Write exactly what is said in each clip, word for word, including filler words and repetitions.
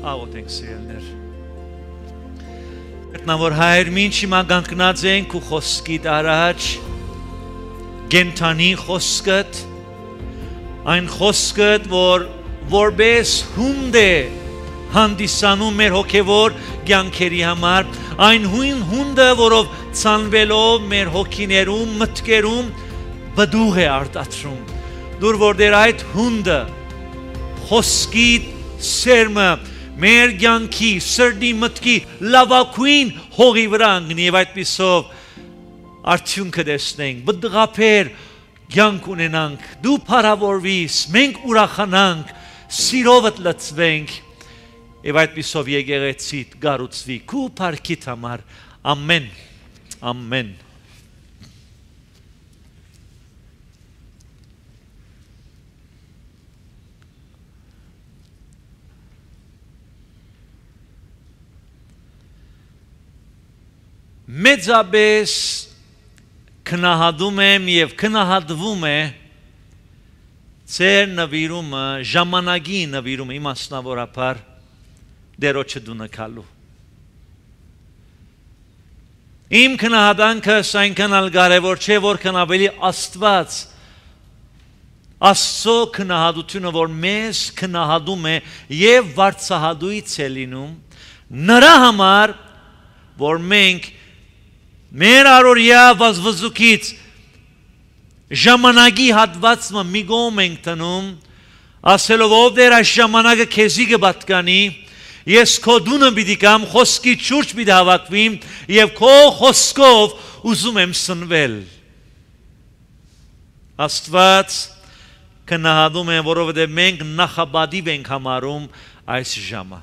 աղոթենք սիրելիներ։ Գտնավոր հայր մինչ հիմա կանգնած ենք ու խոսքիդ առաջ գենթանի խոսքդ այն խոսքդ որ որպես հունդ է հանդիսանում մեր հոգևոր կյանքերի համար այն հույն հունդը որով ցանվելով մեր հոգիներում մտքերում բդուղ է արտադրում դուր որ դեր այդ հունդը խոսքիդ սերմը մեր կյանքի սրտի մտքի լավագույն հողի վրա ընկնի եւ այդպիսով արդյունքը տեսնենք բդղափեր կյանք ունենանք դու փառավորվիս մենք ուրախանանք սիրովդ լցվենք եւ այդպիսով եկեղեցիդ գառուցվի քու փառքիդ համար ամեն ամեն մեծապես քնահատում եմ եւ քնահատվում է ծեր նվիրումը ժամանակի նվիրումը իմաստնավորաբար դերոջը դունակալու իմ քնահատանքը այնքան ալ կարևոր չէ որքան ավելի Աստված Աստծո քնահատությունը որ մեզ քնահատում է եւ վարձահատույց է լինում նրա համար որ մենք մեր առօրյա վազվզուկից ժամանակի հատվածը մի կողմ ենք տնում ասելով ով դեր այս ժամանակը քեզի կպատկանի ես քո դունը պիտի կամ խոսքի շուրջ պիտի հավաքվիմ եւ քո խոսքով ուզում եմ սնվել Աստված քնահատում է որովհետեւ մենք նախաբադիվ ենք համարում այս ժամը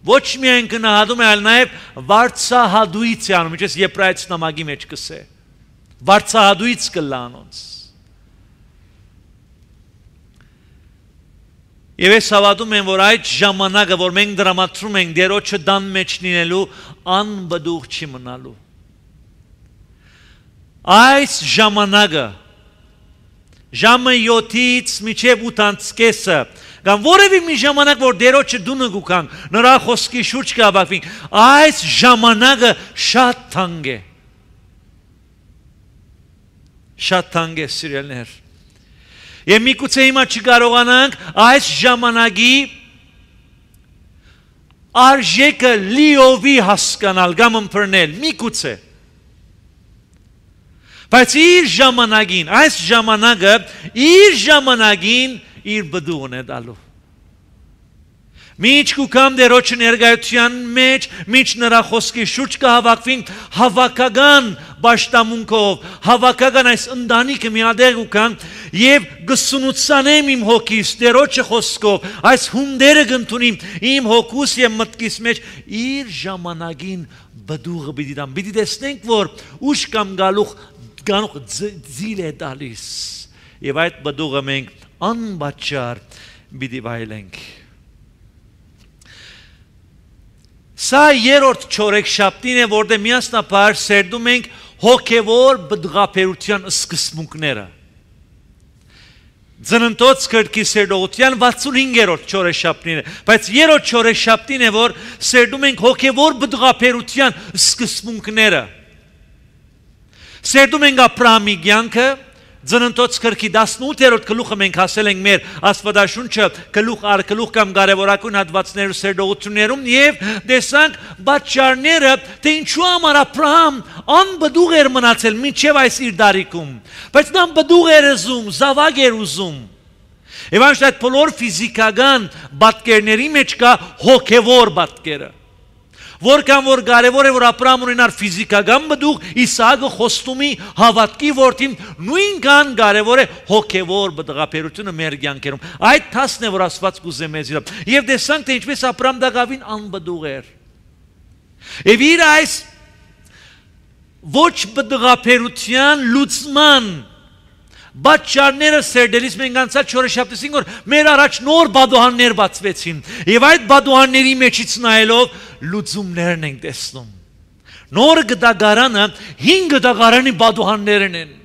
Ոչ միայն քնահատում է, այլ նաև վարձահատույց է անում, ինչպես Եբրայեցի նամակի մեջ կսե։ Վարձահատույց կլա անոնց։ Եվ ես հավատում եմ, որ այդ ժամանակը, որ մենք դրամատրում ենք դերոջը դան մեջ լինելու, անբդուղ չի մնալու։ Այս ժամանակը ժամը յոթից մինչև ութ կեսը Կամ որևէ մի ժամանակ որ դերոջը դունը գուքանք նրա խոսքի շուրջ կհավաքվենք այս ժամանակը շատ թանկ է շատ թանկ է սիրելիներ եւ միգուցե հիմա չկարողանանք այս ժամանակի արժեքը լիովի հասկանալ կամ ըմբռնել միգուցե բայց իր ժամանակին այս ժամանակը իր ժամանակին իր բդուղն է դալու Մինչ կուքամ դերոջը ներկայության մեջ մինչ նրա խոսքի շուրջ կհավաքվենք հավաքական պաշտամունքով հավաքական այս ընտանիքը միատեղ ուքան եւ գսունուցանեմ իմ հոգիս դերոջը խոսքով այս հունդերը կընդունիմ իմ հոգուս եւ մտքիս մեջ իր ժամանակին բդուղը պիտի դամ պիտի տեսնենք որ ուշ կամ գալուխ գանուխ ձիլ է տալիս եւ այդ բդուղը մենք անբաճար պիտի վայելենք Սա երրորդ չորեքշաբթին է որտեղ միասնաբար սերդում ենք հոգևոր բդղափերության սկզբունքները Ծննդոց քրկի սերդողության վաթսունհինգերորդ չորեքշաբթին է բայց երրորդ չորեքշաբթին է որ սերդում ենք հոգևոր բդղափերության սկզբունքները Սերդում ենք Աբրահամի կյանքը Ծննդոց քրկի տասնութերորդ գլուխը մենք հասել ենք մեր Աստվածաշունչը գլուխ առ գլուխ կամ կարևորագույն հատվածներու սերդողություններում եւ տեսանք պատճառները թե ինչու համար Աբրահամ անբդուղ էր մնացել մինչեւ այս իր դարիքում բայց նա բդուղ էր ուզում զավակ էր ուզում եւ անշտ այդ բոլոր ֆիզիկական պատկերների մեջ կա հոգեվոր պատկերը Որքան որ կարևոր է որ Աբրահամն ունենար ֆիզիկական բդուղ, Իսահակը խոստումի հավատքի որդին նույնքան կարևոր է հոգևոր բդղափերությունը մեր կյանքերում։ Այդ թասն է որ Աստված կուզե մեզ իրավ։ Եվ տեսանք թե ինչպես Աբրահամ դակավին անբդուղ էր։ Եվ իր այս ոչ բդղափերության լուծման Բաճարները սերդելիս մենք անցած չորեքշաբթին որ մեր առաջ նոր բադուհաններ բացվեցին եւ այդ բադուհանների մեջից նայելով լուծումներն ենք տեսնում Նոր գդագարանը հինգ գդագարանի բադուհաններն են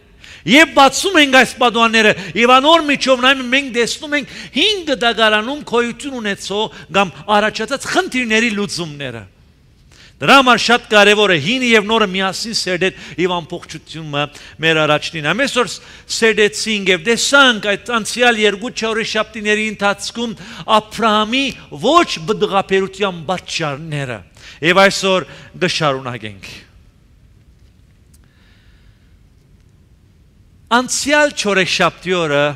Եվ բացում ենք այս պատուհանները եւ անոր միջով նայում մենք տեսնում ենք հինգ դագարանում քոյություն ունեցող կամ առաջացած խնդիրների լուծումները։ Դրա համար շատ կարևոր է հինը եւ նորը միասին սերդել եւ ամբողջությունը մեր առաջնին։ Ամեսօր սերդեցինք եւ տեսանք այդ անցյալ երկու չորեշաբթիների ընթացքում Աբրահամի ոչ բդղապերության պատճառները եւ այսօր կշարունակենք։ Անցյալ չորեշաբթի օրը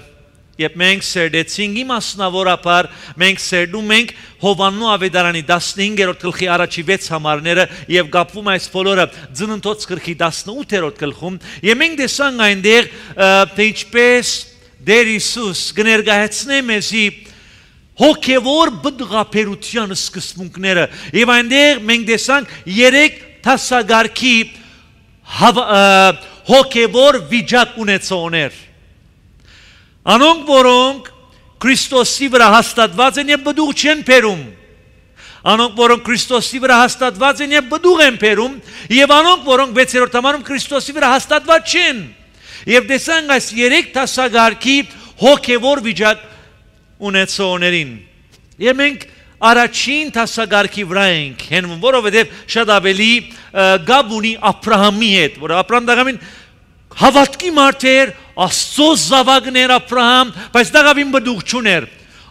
երբ մենք սերդեցինք իմասնավորապես մենք սերդում ենք Հովաննու ավետարանի տասնհինգերորդ գլխի առաջի վեց համարները եւ գապվում այս բոլորը Ծննդոց գլխի տասնութերորդ գլխում եւ մենք տեսանք այնտեղ թե ինչպես Տեր Հիսուս կներկայացնե մեզի հոգեվոր բդղապերության սկզբունքները եւ այնտեղ մենք տեսանք երեք տասագարքի հոգեվոր վիճակ ունեցողներ Անոնք որոնք Քրիստոսի վրա հաստատված են եւ բդուղ չեն բերում Անոնք որոնք Քրիստոսի վրա հաստատված են եւ բդուղ են բերում եւ անոնք որոնք վեցերորդ համարում Քրիստոսի վրա հաստատված չեն եւ տեսանք այս երեք տասագարքի հոգեվոր վիճակ ունեցողներին եւ մենք Առաջին տասագարքի վրա ենք հենվում, որովհետև շատ ավելի գաբ ունի Աբրահամի հետ, որ Աբրահամ դաղամին հավատքի մարդ էր, Աստծո զավակներ Աբրահամ, բայց դաղամին բդուղ չուներ,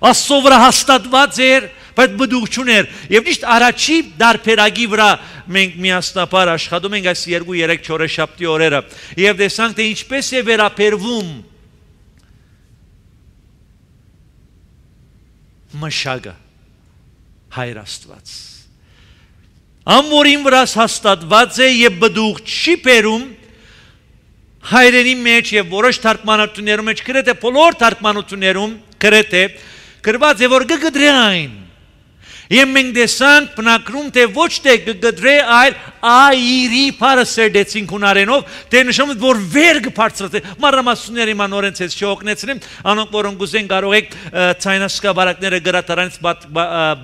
Աստծո վրա հաստատված էր, բայց բդուղ չուներ, եւ ճիշտ առաջի դարբերակի վրա մենք միասնապար աշխատում ենք այս երկու երեք չորեշաբթի օրերը, եւ տեսանք թե ինչպես է վերաբերվում մշակը Հայր Աստված Ամորին վրաս հաստատված է եւ բդուղ չի բերում հայրենի մեջ եւ որոշ թարգմանություններում մեջ գրեթե բոլոր թարգմանություններում գրեթե գրված է որ կգդրե այն Եվ մենք տեսանք բնակրում թե ոչ թե կգդրե այլ այրի բառը սերդեցինք հունարենով թե նշանակում որ վեր կբարձրացե մանրամասնությունների մանորենց ես չօգնեցնեմ անոնք որոնք ուզեն կարող եք ցայնասկաբարակները գրատարանից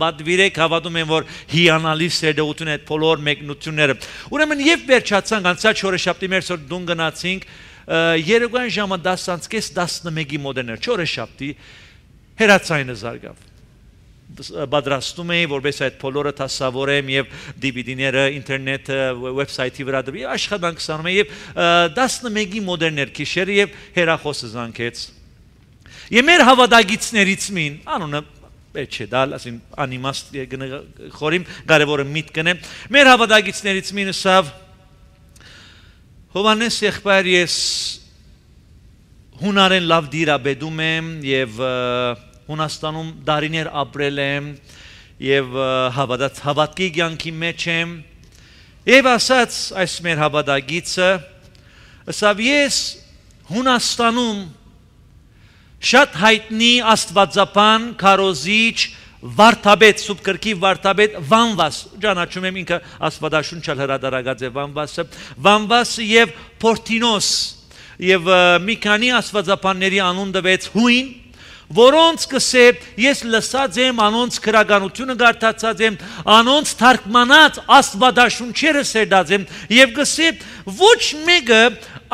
բադվիրեք հավատում եմ որ հիանալի սերդողություն է այդ բոլոր մեկնությունները ուրեմն եւ վերջացանք անցած շորեշաբթի մեր սոր դուն գնացինք երեկոյան ժամը դասանց կես տասնմեկի մոդերներ շորեշաբթի հերացայինը զարգավ Բադրաստում էի, որպես այդ բոլորը տասավորեմ և դի վի դի-ները, ինտերնետը, վեբսայթի վրա դրի, աշխատանք սանում էի և տասնմեկի մոդերներ քիշերը և հերախոսը զանգեց։ Եվ մեր հավատագիցներից մին, անունը պետք չէ դալ, ասին անիմաստ խորիմ, կարևորը միտ կնեմ, մեր հավատագիցներից մին ասավ Հովանես եղբայր ես հունարեն լավ դիրաբեդում եմ և Հունաստանում դարիներ ապրել եմ և հավատքի կյանքի մեջ եմ և ասաց այս մեր հավատագիցը ասավ ես Հունաստանում շատ հայտնի աստվածապան քարոզիչ վարդապետ սուրբ գրքի վարդապետ Վանվաս ճանաչում եմ ինքը աստվածաշունչալ հրատարակած է Վանվասը Վանվասը և Փորտինոս և մի քանի աստվածապանների անուն տվեց հույն Որոնց կսե ես լսած եմ, անոնց քրագանությունը գարտացած եմ, անոնց թարգմանած աստվածաշունչերը սերդած եմ եւ կսե ոչ մեկը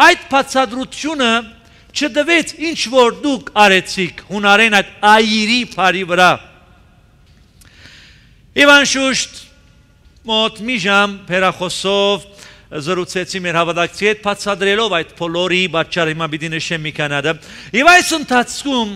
այդ բացատրությունը չդվեց ինչ որ դուք արեցիք հունարեն այդ այրի բարի վրա։ Եվ անշուշտ մոտ մի ժամ հեռախոսով զրուցեցի մեր հավատացի հետ բացատրելով այդ բոլորի պատճառը հիմա պիտի նշեմ մի քանադը եւ այս ընթացքում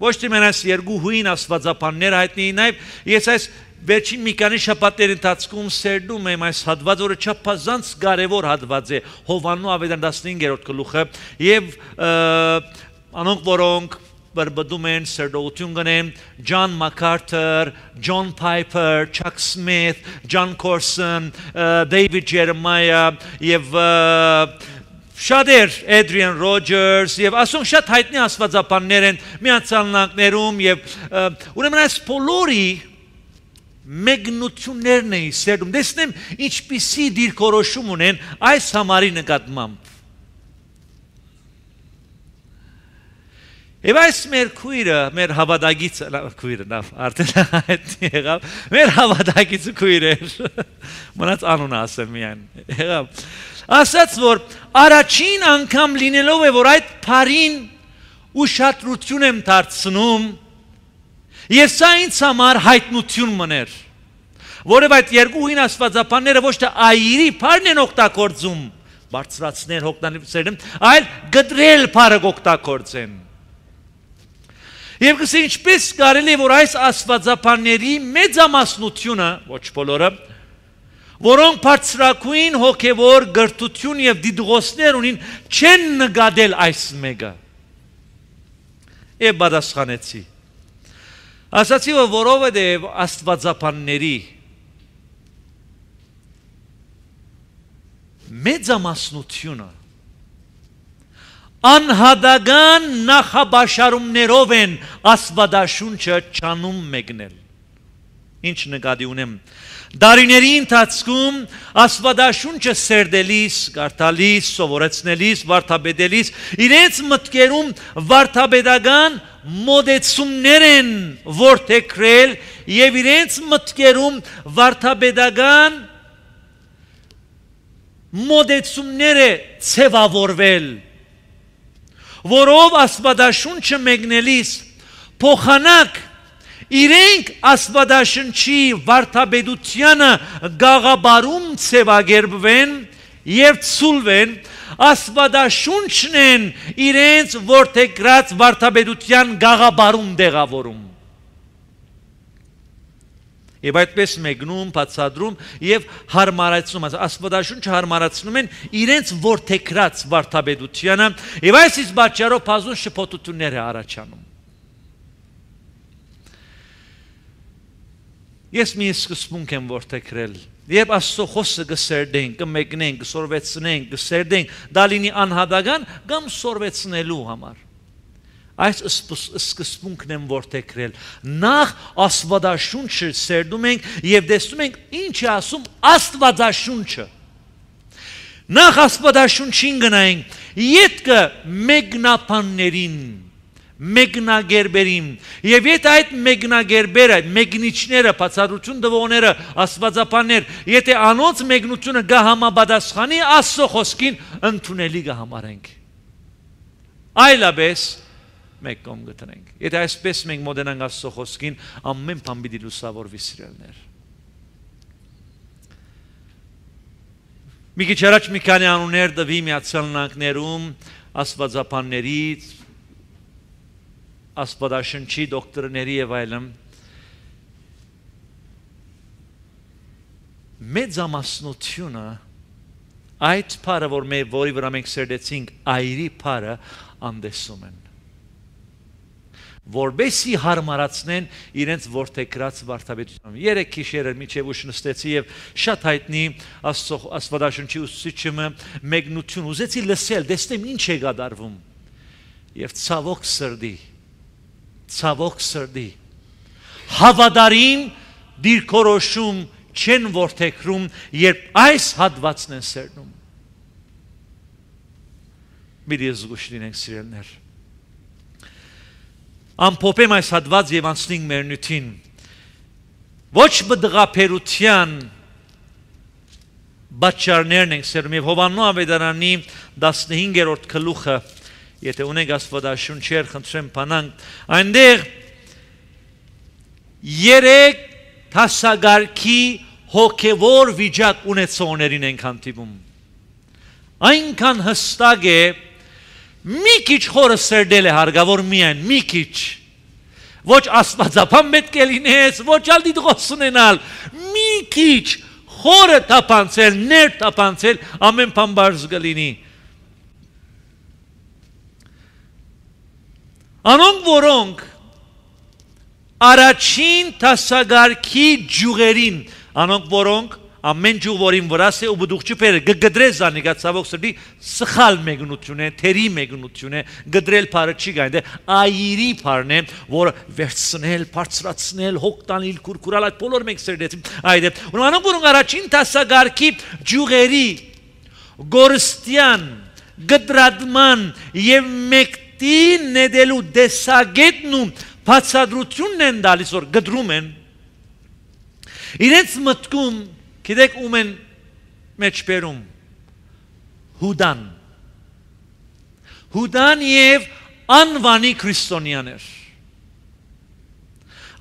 Ոչ թե մենաս երկու հույն աստվածապաններ հայտնի նաև ես այս վերջին մի քանի շաբաթների ընթացքում սերդում եմ այս հատված, որը չափազանց կարևոր հատված է Հովաննու ավետարանի տասնհինգերորդ գլուխը եւ անոնք որոնք բրբդում են սերդողություն գնեն Ջոն Մակարթեր, Ջոն Փայփեր, Չակ Սմիթ, Ջոն Կորսոն, Դեյվիդ Ջերեմայա եւ Շատեր Էդրիան Ռոջերս եւ ասում շատ հայտնի աստվածապաններ են միացյալնքներում եւ ուրեմն այս բոլորի մեկնություններն են սերդում դեսնեմ ինչպիսի դիրքորոշում ունեն այս համարի նկատմամբ Եվ այս մեր քույրը, մեր հավատագիցը, քույրը նավ, արդեն հայտնի եղավ, մեր հավատագիցը քույր էր, մնաց անունը ասեմ միայն, եղավ, ասաց, որ առաջին անգամ լինելով է, որ այդ պարին ուշադրություն եմ դարձնում, և սա ինձ համար հայտնություն մներ, որև այդ երկուհին աստվածապանները ոչ թե այրի պարն են օգտագործում, բարձրացնել հոգտանիվսերն, այլ գդրել պարը օգտագործեն։ Եվ կսե ինչպես կարելի է, որ այս աստվածապանների մեծամասնությունը, ոչ բոլորը, որոնք բարձրակույն հոգևոր գրթություն և դիդղոսներ ունին, չեն նկատել այս մեկը։ Եվ պատասխանեցի։ Ասացի, որ որովհետև աստվածապանների մեծամասնությունը անհատական նախաբաշարումներով են աստվածաշունչը չանում մեկնել։ Ինչ նկատի ունեմ։ Դարիների ընթացքում աստվածաշունչը սերդելիս, կարդալիս, սովորեցնելիս, վարդապետելիս իրենց մտքերում վարդապետական մոդեցումներ են որդեգրել և իրենց մտքերում վարդապետական մոդեցումներ է ցևավորվել, որով աստվածաշունչը մեկնելիս փոխանակ իրենք աստվածաշնչի վարդապետությանը գաղաբարում ցևագերբվեն և ցուլվեն, աստվածաշունչն են իրենց որդեգրած վարդապետության գաղաբարում դեղավորում։ Եվ այդպես մեկնում, բացադրում և հարմարացնում, աստվածաշունչը հարմարացնում են իրենց որդեգրած վարդապետությանը և այս իսկ պատճառով բազում շփոթություններ է առաջանում։ Ես մի սկզբունք եմ որդեգրել, երբ Աստծո խոսքը կսերդենք, կմեկնենք, կսորվեցնենք, կսերդենք, դա լինի անհատական կամ սորվեցնելու համար։ Այս սկզբունքն եմ որդեգրել։ Նախ աստվածաշունչը սերդում ենք և տեսնում ենք ինչ է ասում աստվածաշունչը։ Նախ աստվածաշունչին գնայինք, ետքը մեկնաբաններին, մեկնագերբերին, և եթե այդ մեկնագերբերը, մեկնիչները, բացատրություն տվողները, աստվածապաններ, եթե անոնց մեկնությունը կհամապատասխանի Աստծո խոսքին, ընդունելի կհամարենք։ Այլապես մեկ կողմ գտնենք։ Եթե այսպես մենք մոտենանք Աստծո խոսքին, ամեն բան պիտի լուսավորվի սիրելիներ։ Մի քիչ առաջ մի քանի անուններ տվի Միացյալ Նահանգներում աստվածապաններից, աստվածաշնչի դոկտրների և այլն։ Մեծամասնությունը այդ բառը, որի վրա մենք սերդեցինք, այրի բառը անդեսում են, որպեսզի հարմարացնեն իրենց որդեգրած վարդապետությունը։ Երեք գիշերը մինչև ուշ նստեցի և շատ հայտնի աստվածաշնչի ուսուցիչը մեկնություն ուզեցի լսել, տեսնեմ ինչ է կատարվում։ Եվ ցավոք սրտի, ցավոք սրտի, հավատարիմ դիրքորոշում չեն որդեգրում, երբ այս հատվածն են սերնում։ Մի զգուշ լինենք սիրելիներ։ Ամփոփեմ այս հատված և անցնենք մեր նյութին։ Ոչ բդղափերության պատճառներն ենք սերում և Հովհաննես ավետարանի տասնհինգերորդ գլուխը, եթե ունենք աստվածաշունչեր, խնդրեմ բանանք, այնտեղ երեք դասակարգի հոգևոր վիճակ ունեցողներին ենք հանդիպում։ Այնքան հստակ է, մի քիչ խորը սերդել է հարկավոր միայն, մի քիչ, ոչ աստվածապան պետք է լինես, ոչ ալ դիտղոս ունենալ, մի քիչ խորը թափանցել, ներ թափանցել, ամեն բան բարձ կլինի։ Անոնք, որոնք առաջին դասակարգի ջուղերին, անոնք, որոնք ամեն ջուղ, որին վրաս է ու բդուղ չպերը, գգդրել զանիկա ցավոք սրտի սխալ մեկնություն է, թերի մեկնություն է, գդրել բառը չի գայն데 այրի բառն է, որը վերցնել, բարձրացնել, հոգ տանել, կուրկուրալ, այդ բոլորը մենք սերդեցինք այդ է։ Ու անոնք, որոնք առաջին դասակարգի ջուղերի գորստյան, գդրադման եւ մեկ Եգիպտի նետելու դեսագետն ու բացատրությունն են դալիս, որ գդրում են, իրենց մտքում, գիտեք ում են մեջ բերում, Հուդան, Հուդան և անվանի քրիստոնյաներ,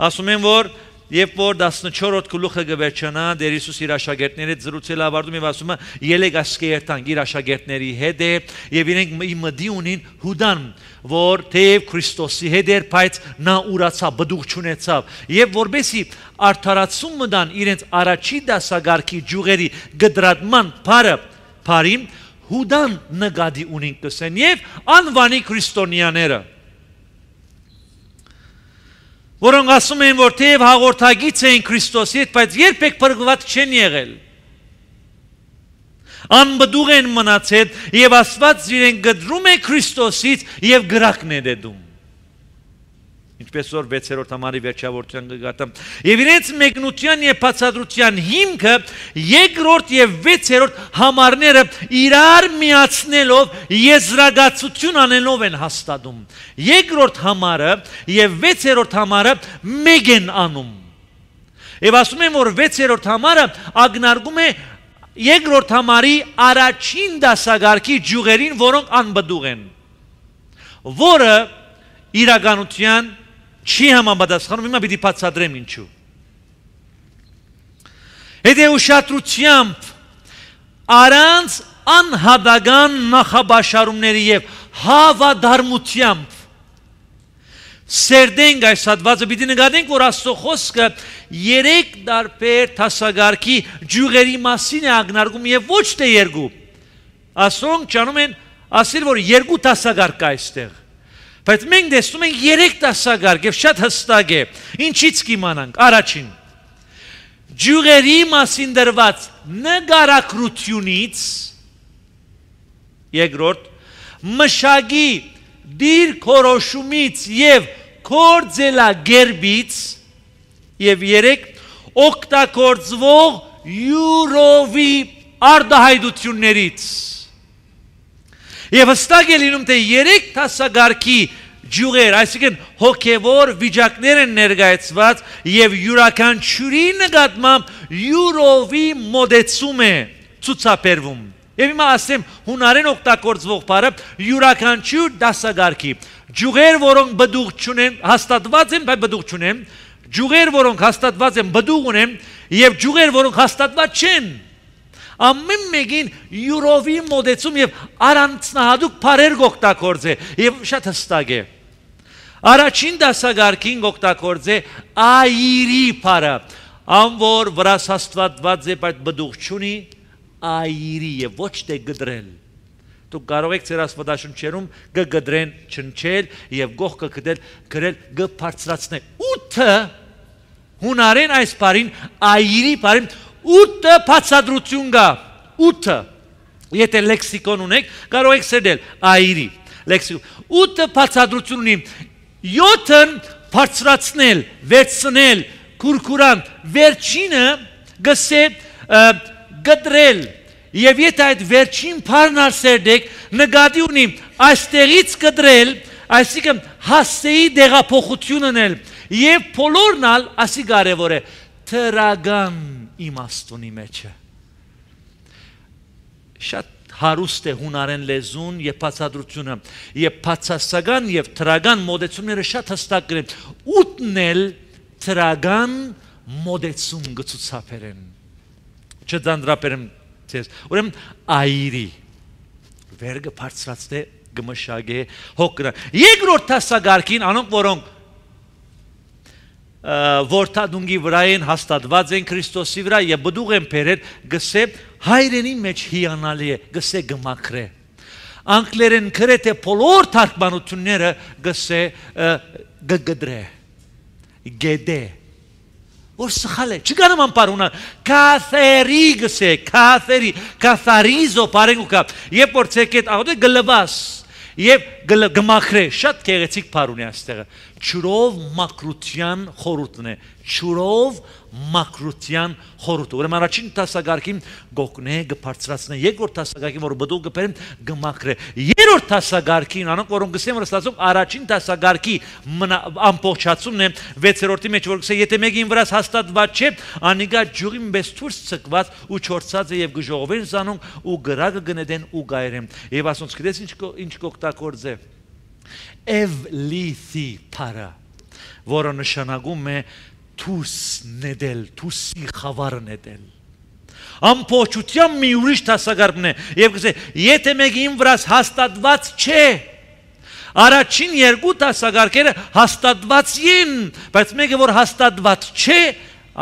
ասում են, որ Երբ որ տասնչորրորդ գլուխը գվերջանա, Տեր Հիսուս իր աշակերտների հետ զրուցել ավարտում եւ ասում է՝ «Ելեք ասկերտանք իր աշակերտների հետ է եւ իրենք մտի ունին Հուդան, որ թեև Քրիստոսի հետ էր, բայց նա ուրացավ, բդուղ չունեցավ եւ որբեսի արդարացում մտան իրենց առաջի դասագարքի ջուղերի գդրատման բարը, բարին Հուդան նկատի ունին կսեն եւ անվանի քրիստոնյաները որոնք ասում են, որ թեև հաղորդագից էին Քրիստոսի հետ, բայց երբեք փրկված չեն եղել։ Անբդուղ են մնացել եւ Աստված իրեն գդրում է Քրիստոսից եւ գրակն է դեդում։ Ինչպես որ վեցերորդ համարի վերջավորության գտամ։ Եվ իրենց մեկնության եւ բացատրության հիմքը երկրորդ եւ վեցերորդ համարները իրար միացնելով եզրակացություն անելով են հաստատում։ Երկրորդ համարը եւ վեցերորդ համարը մեկ են անում։ Եվ ասում են, որ վեցերորդ համարը ակնարկում է երկրորդ համարի առաջին դասագարքի ջուղերին, որոնք անբդուղ են, որը իրականության չի համապատասխանում, հիմա պիտի բացատրեմ ինչու։ Հետեւուշադրությամբ առանց անհատական նախաբաշարումների եւ հավատարմությամբ սերդենք այս հատվածը, պիտի նկատենք, որ Աստծո խոսքը երեք տարբեր դասագարքի ջուղերի մասին է ակնարկում եւ ոչ թե երկու։ Աստծոն ճանում են ասել, որ երկու դասագարք կա այստեղ։ Բայց մենք տեսնում ենք երեք դասագարք եւ շատ հստակ է։ Ինչից կիմանանք։ Առաջին ջուղերի մասին դրված նկարագրությունից, երկրորդ մշակի դիրքորոշումից եւ կորձելագերբից եւ երեք օգտագործվող յուրովի արդահայտություններից։ Եվ հստակ է լինում, թե երեք դասագարքի ջուղեր, այսինքն հոգևոր վիճակներ են ներկայացված եւ յուրաքանչյուրի նկատմամբ յուրովի մոդեցում է ցուցաբերվում։ Եվ հիմա ասեմ հունարեն օգտագործվող բառը յուրաքանչյուր դասագարքի ջուղեր, որոնք բդուղ չունեն, հաստատված են, բայց բդուղ չունեն, ջուղեր, որոնք հաստատված են, բդուղ ունեն, եւ ջուղեր, որոնք հաստատված չեն։ Ամեն մեկին յուրովի մոդեցում եւ առանձնահատուկ բառեր օգտագործե եւ շատ հստակ է։ Առաջին դասագարքին օգտագործե այրի բառը, անոր վրա հաստատված է, բայց բդուղ չունի, այրի եւ ոչ թե գդրել։ Դուք կարող եք ձեր աստվածաշնչերում գգդրեն չնչել եւ գողքը գդել գրել գբարձրացնել։ Ութը հունարեն այս բառին այրի բառին ութը բացատրություն կա, ութը, եթե լեքսիկոն ունեք, կարող եք սերդել այրի, լեքսիկոն, ութը բացատրություն ունի, յոթն բարձրացնել, վերցնել, կուրկուրան, վերջինը գսե գդրել, եւ եթե այդ վերջին բառն սերդեք, նկատի ունի այստեղից գդրել, այսինքն հասցեի դեղափոխություն անել, եւ բոլորն ալ ասի կարեւոր է, թրագան իմաստունի մեջը։ Շատ հարուստ է հունարեն լեզուն եւ բացատրությունը եւ բացասական եւ թրագան մոդեցումները շատ հստակ գրեն։ Ուտնել թրագան մոդեցում գծուցապերեն։ Չդանդրապերեմ ցես։ Ուրեմն այրի վերգը բարձրացնե գմշագե հոգրա։ Երկրորդ դասագարքին անոնք որոնք որթադունգի վրա են հաստատված են Քրիստոսի վրա եւ բդուղ են բերել գսե հայրենի մեջ հիանալի է գսե գմակրե անգլերեն գրեթե բոլոր թարգմանությունները գսե գգդրե գեդե որ սխալ է չգանամ անպարունա կաթերի գսե կաթերի կաթարիզո բարենուկա երբ որ ցեկետ աղոտ գլվաս եւ գմախրե շատ գեղեցիկ բառ ունի այստեղը ճուրով մակրության խորհուրդն է ճուրով մակրության խորհուրդը ուրեմն առաջին դասագարքին գոկնե գբարձրացնե երկրորդ դասագարքին որ բդուղ գբերեն գմախրե երրորդ դասագարքին, անոնք որոնք գսեմ ռստացում առաջին դասագարքի ամբողջացումն է վեցերորդի մեջ, որ գսե եթե մեկին վրաս հաստատված չէ, անիգա ջուղին մեծ դուրս ցկված ու չորցած է եւ գժողովեն զանոն ու գրագը գնեդեն ու գայրեմ։ Եվ ասոնց գիտես ինչ ինչ կօգտագործ է։ Էվլիթի para, որը նշանակում է թուս նետել, թուսի խավար նետել։ Ամբողջությամբ մի ուրիշ դասագարքն է եւ գսե եթե մեկին վրաս հաստատված չէ, առաջին երկու դասագարքերը հաստատված են, բայց մեկը որ հաստատված չէ,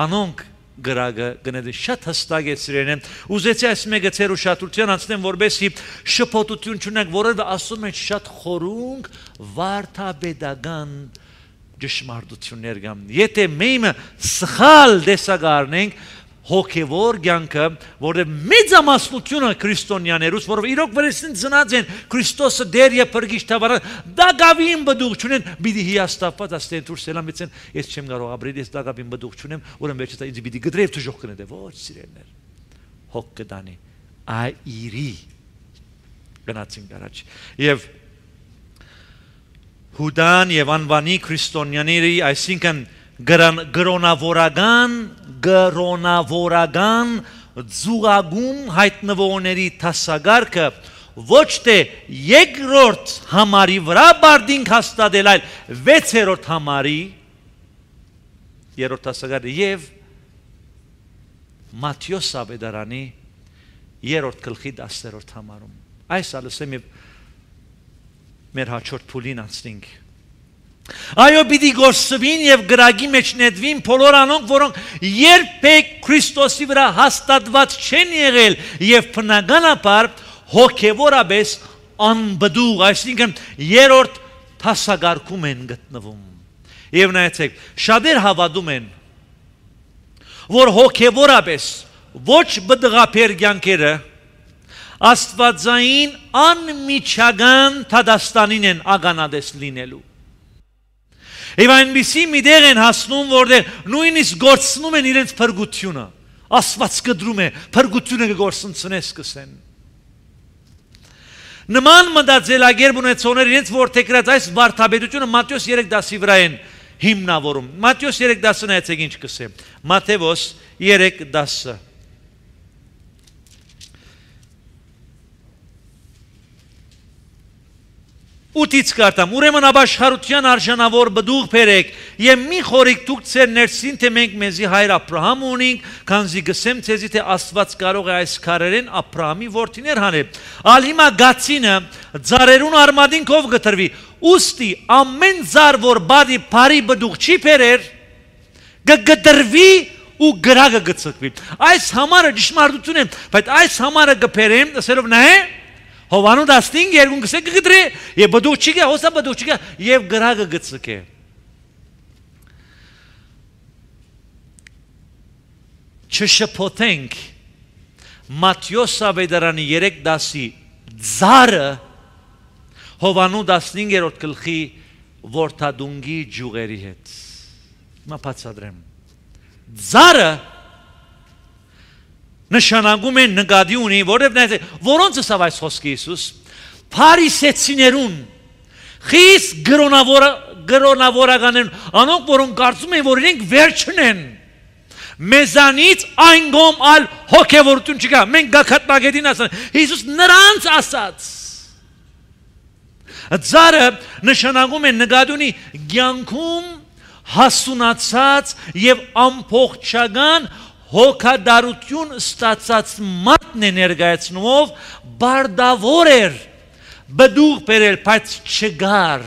անոնք գրագը գնեդի շատ հստակ է սիրեն։ Ուզեցի այս մեկը ծեր ուշադրության անցնեմ, որբեսի շփոթություն չունենք, որովհետեւ ասում են շատ խորունկ վարդապետական ճշմարտություններ կան։ Եթե մենք սխալ դեսագարնենք հոգևոր կյանքը, որը մեծամասնությունը քրիստոնյաներուց, որով իրոք վրեսին ծնած են Քրիստոսը դեր եւ փրկիչ թավարան, դակավին բդուղ չունեն, պիտի հիաստապված աստեն դուրս ելամեցեն, ես չեմ կարող ապրել, ես դակավին բդուղ չունեմ, ուրեմն վերջը ինձ պիտի գդրեվ թժող կնեդե, ոչ սիրելներ, հոգ կդանի, այրի գնացին առաջ։ Եվ Հուդան եւ անվանի քրիստոնյաների, այսինքն գրոնավորական գրոնավորական զուգագում հայտնվողների դասագարքը ոչ թե երկրորդ համարի վրա բարդինք հաստատել, այլ վեցերորդ համարի երրորդ դասագարը եւ Մատթեոս Ավետարանի երրորդ գլխի դասերորդ համարում։ Այս ալսեմ եւ մեր հաջորդ փուլին անցնենք։ Այո, պիտի գործվին եւ գրագի մեջ նետվին բոլոր անոնք, որոնք երբեք Քրիստոսի վրա հաստատված չեն եղել եւ բնականաբար հոգեվորաբես անբդուղ, այսինքն երրորդ դասագարքում են գտնվում։ Եվ նայեցեք, շատեր հավատում են, որ հոգեվորաբես ոչ բդղապեր կյանքերը աստվածային անմիջական թադաստանին են ագանադես լինելու։ Եվ այնպիսի մի դեղ են հասնում, որտեղ նույնիսկ գործնում են իրենց փրկությունը։ Աստված կդրում է, փրկությունը կգործընծնես սկսեն։ Նման մտածելակերպ ունեցողներ իրենց որդեգրած այս վարդապետությունը Մատթեոս երեք դասի վրա են հիմնավորում։ Մատթեոս երեք դասը նայեցեք ինչ կսե։ Մատթեոս երեք դասը։ Ութից կարտամ, ուրեմն ապաշխարության արժանավոր բդուղ բերեք եւ մի խորիկ դուք ձեր ներսին, թե մենք մեզի հայր Աբրահամ ունենք, քանզի գսեմ ցեզի թե Աստված կարող է այս քարերեն Աբրահամի որդիներ հանել։ Ալ հիմա գացինը ծառերուն արմատին կով գտրվի։ Ուստի ամեն ծառ, որ բարի բարի բդուղ չի բերեր, կգտրվի ու գրագը գծկվի։ Այս համարը ճշմարտություն է, բայց այս համարը կբերեմ, ասելով նա է Հովանու դաստին երկուն կսե կգտրի եւ բդուղ չի գա, հոսա բդուղ չի գա եւ գրագը գծկե։ Չշփոթենք Մատթեոս Ավետարանի երեք դասի ծառը Հովանու տասնհինգերորդ գլխի որդադունգի ջուղերի հետ։ Հիմա բացատրեմ։ Ծառը նշանակում են նկատի ունի, որովհետև որոնց ասավ այս խոսքը Հիսուս, փարիսեցիներուն, խիստ գրոնավորականներուն, անոնք որոնք կարծում են, որ իրենք վերջն են, մեզանից այն գոմ ալ հոգևորություն չկա, մենք գաքատմագետին ասան, Հիսուս նրանց ասաց, ծառը նշանակում են նկատի ունի կյանքում հասունացած եւ ամբողջական հոգադարություն ստացած մարդն է ներկայացնումով բարդավոր էր բդուղ բերել, բայց չգար,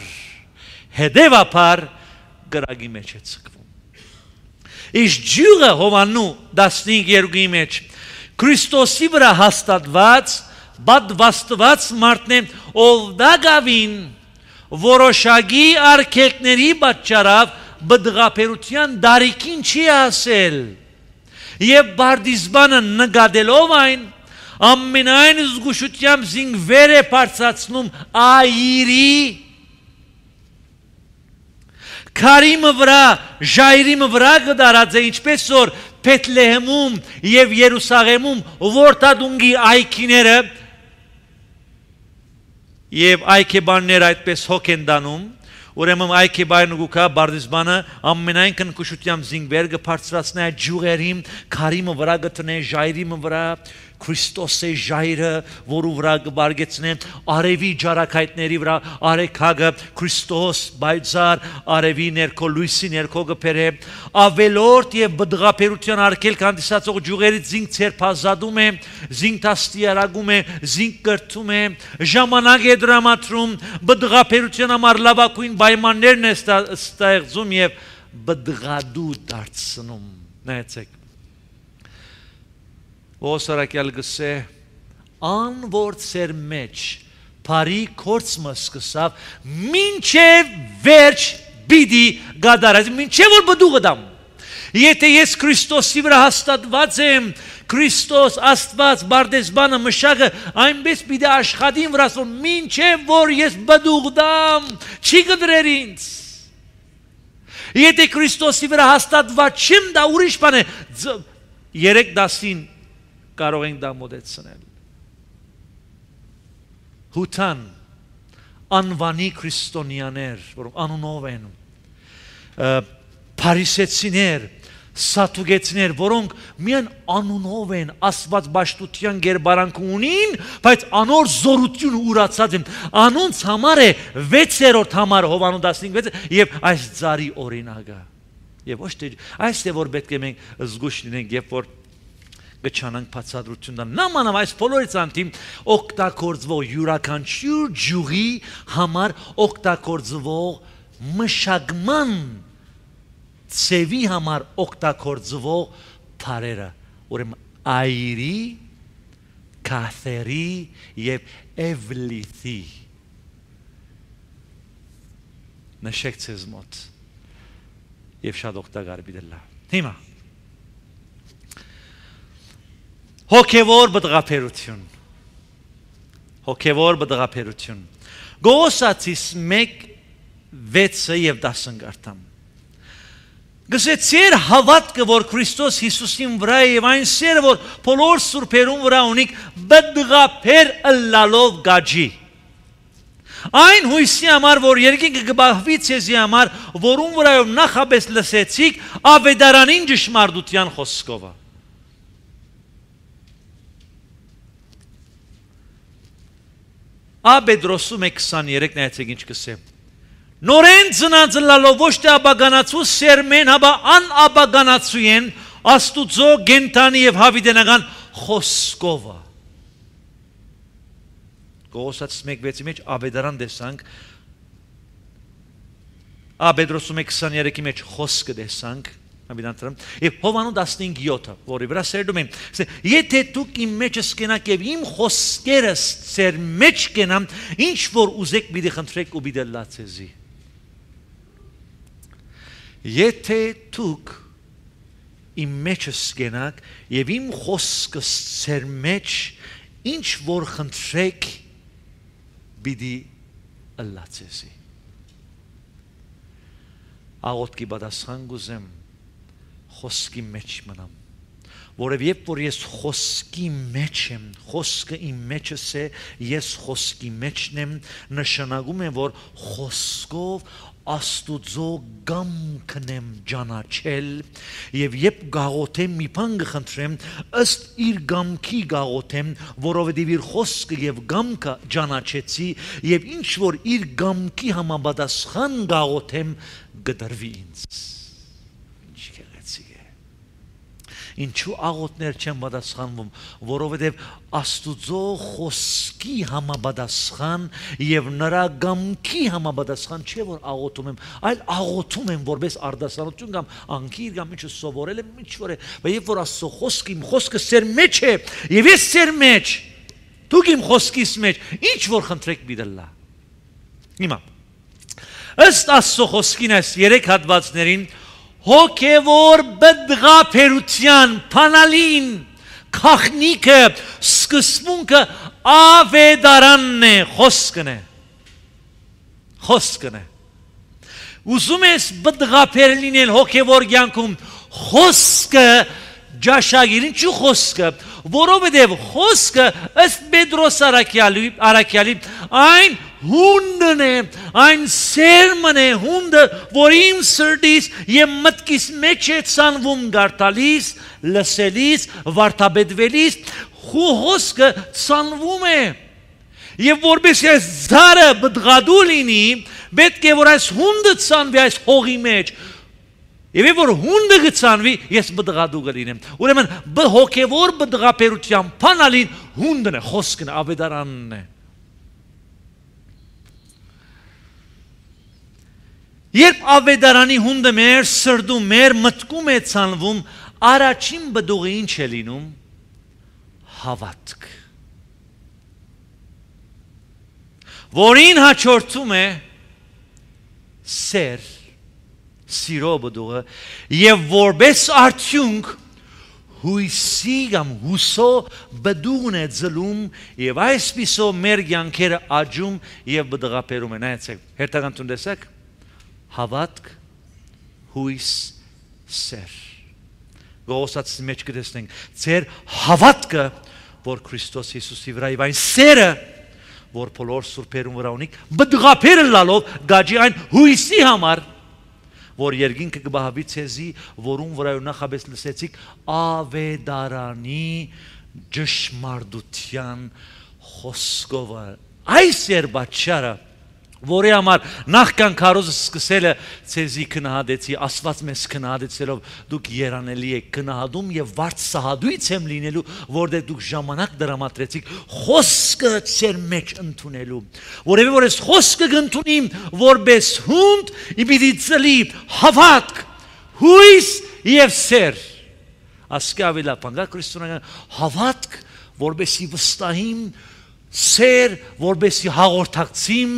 հետևաբար գրագի մեջ է ցկվում։ Իսկ ջուղը Հովանու տասնհինգերորդի մեջ Քրիստոսի վրա հաստատված, պատվաստված մարդն է, ով դակավին որոշակի արգելքների պատճառով բդղապերության դարիքին չի ասել։ Եվ բարդիզբանը նկատելով այն, ամենայն զգուշությամբ զինվեր է բարձրացնում այրի, քարիմը վրա, ժայրիմը վրա կդարած է, ինչպես որ Փեթլեհեմում եւ Երուսաղեմում որդադունգի այքիները Եվ այքեբաններ այդպես հոգ են դանում, ուրեմն այքեբայրն ուգուկա բարդիզբանը ամենայն կնկուշությամբ զինվեր կբարձրացնի այդ ջուղերին, քարիմը վրա գտնե, ժայրիմը վրա, Քրիստոսի ժայրը, որու վրա կբարգեցնե, արևի ջարակայտների վրա, արեքագը, Քրիստոս, բայձար, արևի ներքո, լույսի ներքո կբերե, ավելորդ եւ բդղապերության արկել կանդիսացող ջուղերից զինք ցերփազատում է, զինք տաստիարակում է, զինք կրթում է, ժամանակ է դրամատրում, բդղապերության համար լավագույն պայմաններն է ստեղծում եւ բդղադու դարձնում։ Նայեցեք Ոսարակյալ գսե ան որ ծեր մեջ բարի կորցմը սկսավ մինչև վերջ բիդի գադարած մինչև որ բդուղը դամ եթե ես Քրիստոսի վրա հաստատված եմ Քրիստոս Աստված բարդեզբանը մշակը այնպես պիտի աշխատին վրաս որ մինչև որ ես բդուղ դամ չի կդրեր ինձ եթե Քրիստոսի վրա հաստատված չեմ դա ուրիշ բան է երեք դասին կարող ենք դա մոդեցնել հութան անվանի քրիստոնյաներ որոնք անունով են փարիսեցիներ սատուգեցիներ որոնք միայն անունով են աստված բաշտության գերբարանք ունին բայց անոր զորություն ուրացած են անոնց համար է վեցերորդ համար Հովանու տասնհինգ եւ այս ծարի օրինակը եւ ոչ թե այս է որ պետք է մենք զգուշ լինենք երբ որ գչանանք բացատրությունն նամանավ այս բոլորից անտիմ օգտագործվող յուրաքանչյուր ջուղի համար օգտագործվող մշակման ծևի համար օգտագործվող բառերը ուրեմն այրի կաթերի եւ էվլիթի նշեք ցեզ մոտ եւ շատ օգտակար բիդելա հիմա հոգևոր բդղապերություն հոգևոր բդղապերություն Գողոսացիս մեկ վեցը եւ դասն գարտամ գսեցեր հավատքը որ Քրիստոս Հիսուսին վրա է եւ այն սերը որ բոլոր սուրբերուն վրա ունիկ բդղապեր ըլլալով գաջի այն հույսի համար որ երկինքը կբահվի ցեզի համար որուն վրայով նախապես լսեցիք ավետարանին ճշմարտության խոսքովը Աբեդրոսում է քսաներեք նայեցեք ինչ կսեմ Նորեն ծնածլալով ոչ թե աբագանացու սերմեն հաբա ան աբագանացու են աստուծո գենտանի եւ հավիտենական խոսքովը Գողոսացիս մեկ վեցի մեջ ավետարան տեսանք Աբեդրոսում է քսաներեքի մեջ խոսքը տեսանք Եվ Հովանու տասնհինգ յոթը, որի վրա սերդում եմ, եթե դուք իմ մեջս կենաք և իմ խոսքերս ծեր մեջ կենամ, ինչ որ ուզեք պիտի խնդրեք ու պիտի լա ձեզի։ Եթե դուք իմ մեջս կենաք և իմ խոսքս ծեր մեջ, ինչ որ խնդրեք պիտի լա ձեզի։ Աղոտքի պատասխան գուզեմ խոսքի մեջ մնամ որև երբ որ ես խոսքի մեջ եմ խոսքը իմ մեջս է ես խոսքի մեջն եմ նշանակում է որ խոսքով Աստուծո գամքն եմ ճանաչել եւ երբ գաղութեմ մի բան կխնդրեմ ըստ իր գամքի գաղութեմ որովհետեւ իր խոսքը եւ գամքը ճանաչեցի եւ ինչ որ իր գամքի համապատասխան գաղութեմ գդրվի ինձ Ինչու աղոտներ չեն պատասխանվում, որովհետև Աստուծո խոսքի համապատասխան եւ նրա գամքի համապատասխան չէ որ աղոտում եմ, այլ աղոտում եմ որպես արդասանություն կամ անկիր կամ ինչ սովորել եմ, ինչ որ է, բայց երբ որ Աստծո խոսքը իմ խոսքը սեր մեջ է եւ ես սեր մեջ, դուք իմ խոսքիս մեջ, ինչ որ խնդրեք բիդլա։ Հիմա ըստ Աստծո խոսքին այս երեք հատվածներին հոգևոր բդղապերության փանալին քախնիկը սկսմունքը ավետարանն է խոսքն է խոսքն է ուզում ես բդղապեր լինել հոգևոր կյանքում խոսքը ջաշագիր, ինչու խոսքը, որովհետև խոսքը ըստ Պետրոս առաքյալի այն հունդն է, այն սերմն է, հունդը, որ իմ սրտից եւ մտքիս մեջ է ցանվում գարտալիս, լսելիս, վարդապետվելիս, խոսքը ցանվում է։ Եվ որպես այս զարը բդղադու լինի, պետք է որ այս հունդը ցանվի այս հողի մեջ։ Եվ որ հունդը գցանվի, ես բդղադու կլինեմ։ Ուրեմն հոգևոր բդղապերության փանալին հունդն է, խոսքն է, ավետարանն է։ Երբ ավետարանի հունդը մեր սրտում, մեր մտքում է ցանվում, առաջին բդուղը ինչ է լինում։ Հավատք, որին հաջորդում է սեր, սիրո բդուղը, եւ որպես արդյունք հույսի կամ հուսո բդուղն է ձլում, եւ այսպիսով մեր կյանքերը աճում եւ բդղապերում են։ Նայեցեք, հերթական տուն տեսեք, հավատք, հույս, սեր։ Գողոսացի մեջ կտեսնենք, ձեր հավատքը, որ Քրիստոս Հիսուսի վրա եւ այն սերը, որ բոլոր սուրբերուն վրա ունի, բդղապերը լալով գաջի այն հույսի համար, որ երկինքը կբահավի ցեզի, որուն վրայով նախաբես լսեցիք, ավետարանի ճշմարտության խոսքով։ Այս էր պատճառը, որի համար նախքան քարոզը սկսելը ցեզի քնահատեցի, Աստված մեզ քնահատեցելով դուք երանելի եք քնահատում եւ վարձահատույց եմ լինելու, որտեղ դուք ժամանակ դրամատրեցիք խոսքը ձեր մեջ ընդունելու, որովհետեւ որ այս խոսքը կընդունիմ որպես հունդ, իբիդի ծլի հավատք, հույս եւ սեր։ Ասկավիլա պանգա քրիստոնեական հավատք, որբեսի վստահիմ, սեր, որբեսի հաղորդակցիմ,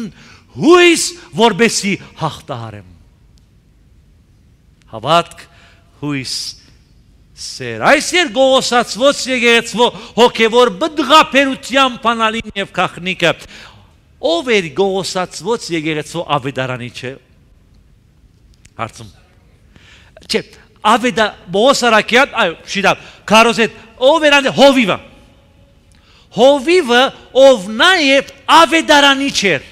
հույս, որբեսի հաղթահարեմ։ Հավատք, հույս, սեր։ Այս երբ գողոսացված եկեղեցվո հոգևոր բդղապերության փանալին եւ քախնիկը, ով էր գողոսացված եկեղեցվո ավետարանիչը։ Հարցում։ Չէ, ավետա բողոսարակյալ, այո, շիդա, քարոզետ, ով էր անդե հովիվը։ Հովիվը, ով նաեւ ավետարանիչ էր։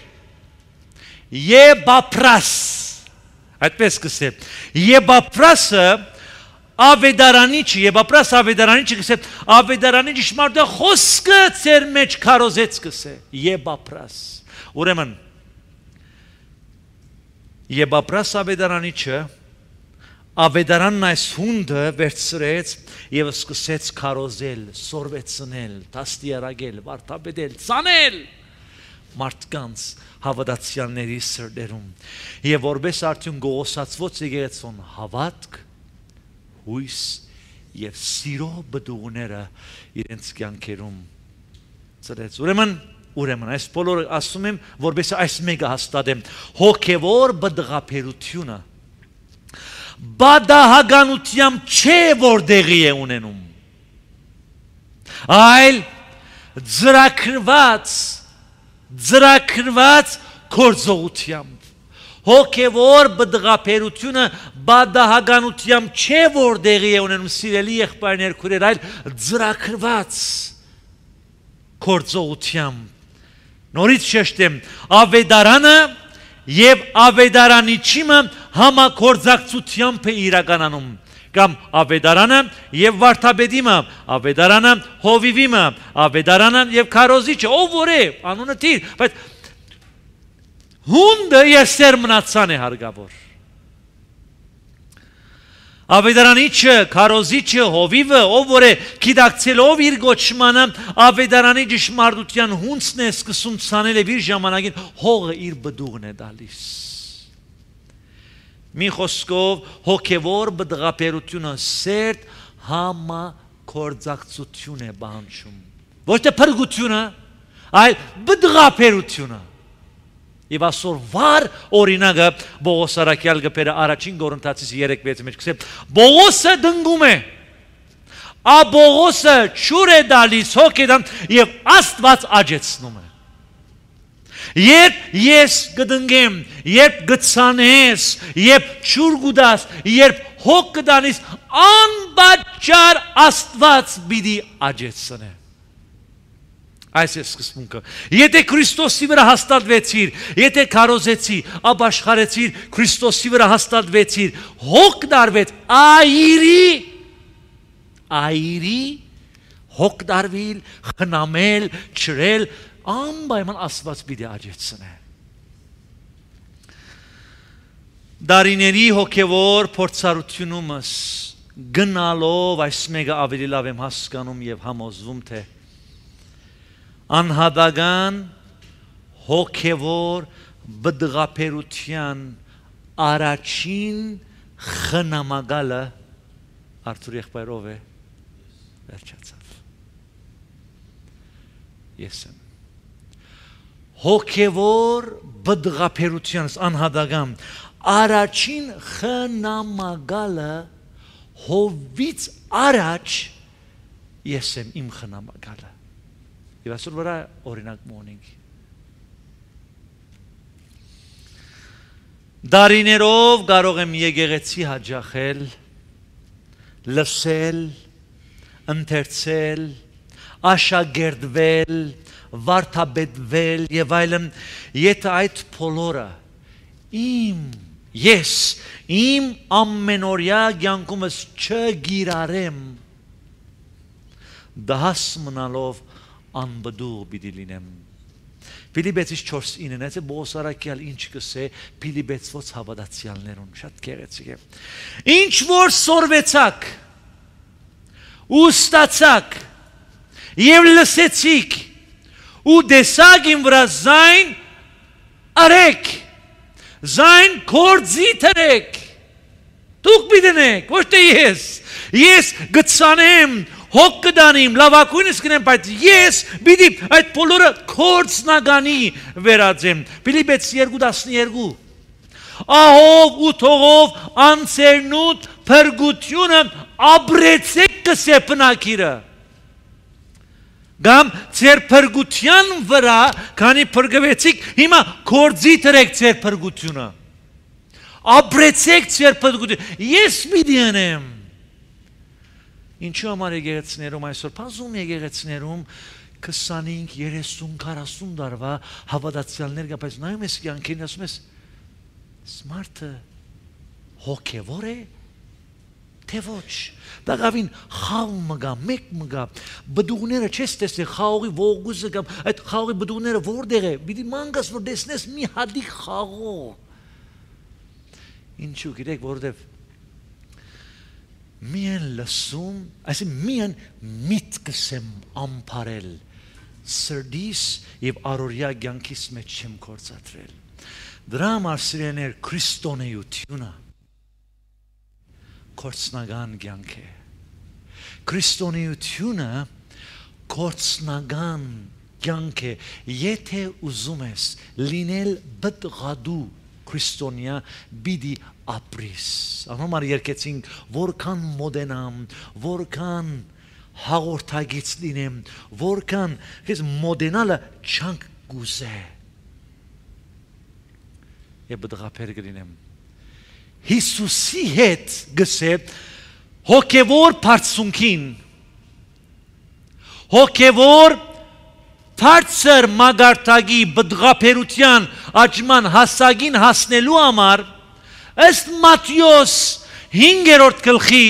Եբապրաս, այդպես կսեմ, Եբապրասը ավետարանիչը, Եբապրաս ավետարանիչը կսեմ, ավետարանի ճշմարտը խոսքը ձեր մեջ քարոզեց կսե, Եբապրաս։ Ուրեմն, Եբապրաս ավետարանիչը, ավետարանն այս հունդը վերցրեց եւ սկսեց քարոզել, սորվեցնել, դաստիարակել, վարդապետել, ցանել մարդկանց հավատացյալների սրտերում եւ որպես արդյուն գողոսացված եկեղեցուն հավատք, հույս եւ սիրո բդուղները իրենց կյանքերում ծրեց։ Ուրեմն, ուրեմն այս բոլորը ասում եմ, որպես այս մեկը հաստատեմ, հոգևոր բդղապերությունը բադահականությամբ չէ, որ դեղի է ունենում, այլ ձրակրված ձրակրված գործողությամբ։ Հոգևոր բդղապերությունը բադահականությամբ չէ, որ դեղի է ունենում, սիրելի եղբայրներ, քույրեր, այլ ձրակրված գործողությամբ։ Նորից շեշտեմ, ավետարանը եւ ավետարանիչը համագործակցությամբ է իրականանում, կամ ավետարանը եւ վարդապետիմը, ավետարանը հովիվիմը, ավետարանը եւ քարոզիչը, ով որ է, անունը թիր, բայց հունդը եւ սերմնացան է հարգավոր։ Ավետարանիչը, քարոզիչը, հովիվը, ով որ է գիտակցելով իր գոչմանը, ավետարանի ճշմարտության հունցն է սկսում ցանել եւ իր ժամանակին հողը իր բդուղն է տալիս։ Մի խոսքով հոգևոր բդղապերությունը սերտ համագործակցություն է պահանջում։ Ոչ թե փրկությունը, այլ բդղապերությունը։ Եվ այսօր վար օրինակը Պողոս առաքյալ գբերը առաջին Կորինթացիս երեք վեց մեջ կսե Պողոսը դնգում է, ա Պողոսը ճուր է դալիս հոգեդան եւ Աստված աջեցնում է։ Երբ ես կդնգեմ, երբ գցանես, երբ ճուր գուդաս, երբ հոգ կդանիս, անպատճառ Աստված պիտի աջեցնե։ Այս է սկզբունքը։ Եթե Քրիստոսի վրա հաստատվեցիր, եթե քարոզեցի, ապաշխարեցիր, Քրիստոսի վրա հաստատվեցիր, հոգ դարվեց, այրի, այրի, հոգ դարվիլ, խնամել, չրել, անպայման Աստված պիտի աջեցնե։ Դարիների հոգևոր փորձառությունումս գնալով այս մեկը ավելի լավ եմ հասկանում եւ համոզվում, թե անհատական հոգևոր բդղապերության առաջին խնամակալը Արթուր եղբայրով է վերջացավ։ Ես եմ հոգևոր բդղապերությանս անհատական առաջին խնամակալը հովից առաջ ես եմ իմ խնամակալը։ Եվ այսօր վրա օրինակ մոնենք։ Դարիներով կարող եմ եկեղեցի հաճախել, լսել, ընթերցել, աշակերտվել, վարդապետվել եւ այլն, եթե այդ բոլորը իմ ես իմ ամենօրյա կյանքումս չգիրառեմ, դահս մնալով անբդուղ պիտի լինեմ։ Փիլիպպեցիս չորս ինը է բոսարակյալ ինչ կսե Փիլիպպեցվոց հավատացյալներուն շատ գեղեցիկ է։ Ինչ որ սորվեցաք ու ստացաք եւ լսեցիք ու տեսաք իմ վրա զայն արեք, զայն կործի թրեք, դուք պիտենեք, ոչ թե ես, ես գծանեմ, հոգ կդանիմ, լավակույնս կնեմ, բայց ես պիտի այդ բոլորը կործնագանի վերածեմ։ Փիլիպպեցիս երկու տասներկու Ահով ու թողով անցերնուտ փրկությունը ապրեցեք կսե բնակիրը։ Գամ ձեր փրկության վրա, քանի փրկվեցիք, հիմա կործի թրեք ձեր փրկությունը։ Ապրեցեք ձեր փրկությունը։ Ես պիտի անեմ։ Ինչու համար եկեղեցիներում այսօր բազում եկեղեցիներում քսանինք, երեսուն, քառասուն տարվա հավատացյալներ կա, բայց նայում ես կյանքին, ասում ես մարդը հոգևոր է, թե ոչ։ Դակավին խաղ մգա, մեկ մգա, բդուղները չես տեսել, խաղողի ողգուզը կամ այդ խաղողի բդուղները որտեղ է, պիտի մանգաս որ տեսնես մի հատիկ խաղող։ Ինչու գիտեք, որովհետև միայն լսում, այսինքն միայն միտքս եմ ամփարել սրտիս եւ առօրյա կյանքիս մեջ չեմ կործատրել։ Դրա համար սիրելիներ քրիստոնեությունը կործնական կյանք է։ Քրիստոնեությունը կործնական կյանք է, եթե ուզում ես լինել բդղադու քրիստոնյա պիտի ապրիս։ Անհամար երկեցինք որքան մոդենամ, որքան հաղորդագից լինեմ, որքան քեզ մոդենալը չանք գուզե։ Եվ բդղապեր կլինեմ։ Հիսուսի հետ գսե հոգևոր բարձունքին, հոգևոր բարձր մագարտագի բդղապերության աճման հասակին հասնելու համար ըստ Մատթեոս հինգերորդ գլխի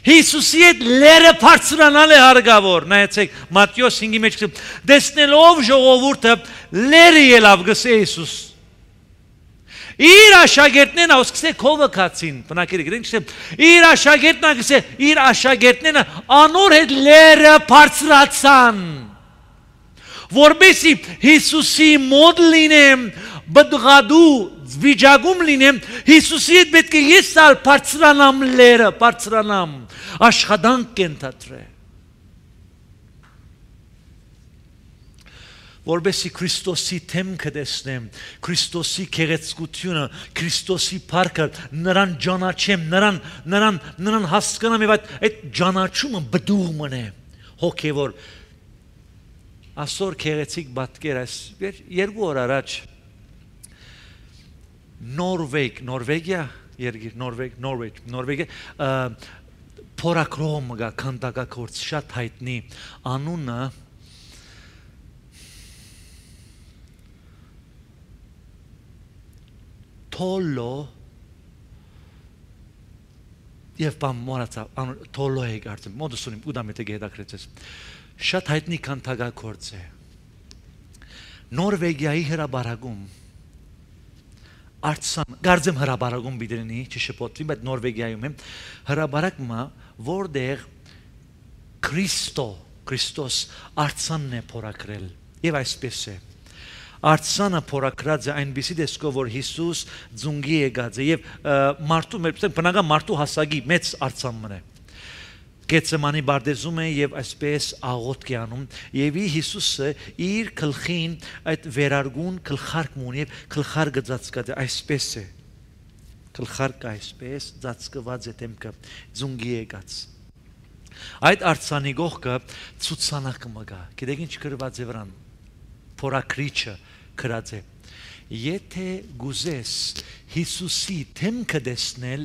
Հիսուսի հետ լերը բարձրանալ է հարգավոր։ Նայեցեք Մատթեոս հինգի մեջ տեսնելով ժողովուրդը լերը ելավ գսե Հիսուս։ Իր աշակերտներն ասկսե քովը կացին, բնակիրը գրենք, իր աշակերտներն ասկսե, իր աշակերտներն անոր հետ լերը բարձրացան, որբեսի Հիսուսի մոտ լինեմ, բդղադու վիճակում լինեմ, Հիսուսի հետ պետք է ես ալ բարձրանամ լերը, բարձրանամ, աշխատանք կենթատրե։ Որբեսի Քրիստոսի թեմքը տեսնեմ, Քրիստոսի գեղեցկությունը, Քրիստոսի փառքը, նրան ճանաչեմ, նրան, նրան, նրան հասկանամ եւ այդ, այդ ճանաչումը բդուղ մնե, հոգեվոր։ Այսօր գեղեցիկ պատկեր այս երկու օր առաջ Նորվեգ, Նորվեգիա, Երգիր, Նորվեգ, Նորվեգ, Նորվեգը փորակրոմ գա քանդակակորց շատ հայտնի անունը Թոլո եւ բամ մորացա Թոլո է գարտում մոդուսունիմ ուդամետը գեդակրեցես շատ հայտնի քանդակակորց է Նորվեգիայի հրաբարագում Արցան, գարձեմ հրաբարագում բիդրինի, չշպոտվի, բայց Նորվեգիայում եմ, հրաբարագմա, որդեղ Քրիստո, Քրիստոս արցանն է փորակրել, և այսպես է, արցանը փորակրած է այնպիսի դեսքով, որ Հիսուս ձունգի եկած է, և մարդու, բնական մարդու հասակի մեծ արցան մն է, Գեցեմանի բարդեզում է և այսպես աղոթք է անում և Հիսուսը իր գլխին այդ վերարգուն գլխարկն ունի և գլխարկը ծածկած է այսպես է գլխարկը այսպես ծածկված է դեմքը ձունգի եկած այդ արցանի գողքը ցուցանակը մգա գիտեք ինչ գրված է վրան փորակրիչը գրած է եթե գուզես Հիսուսի դեմքը տեսնել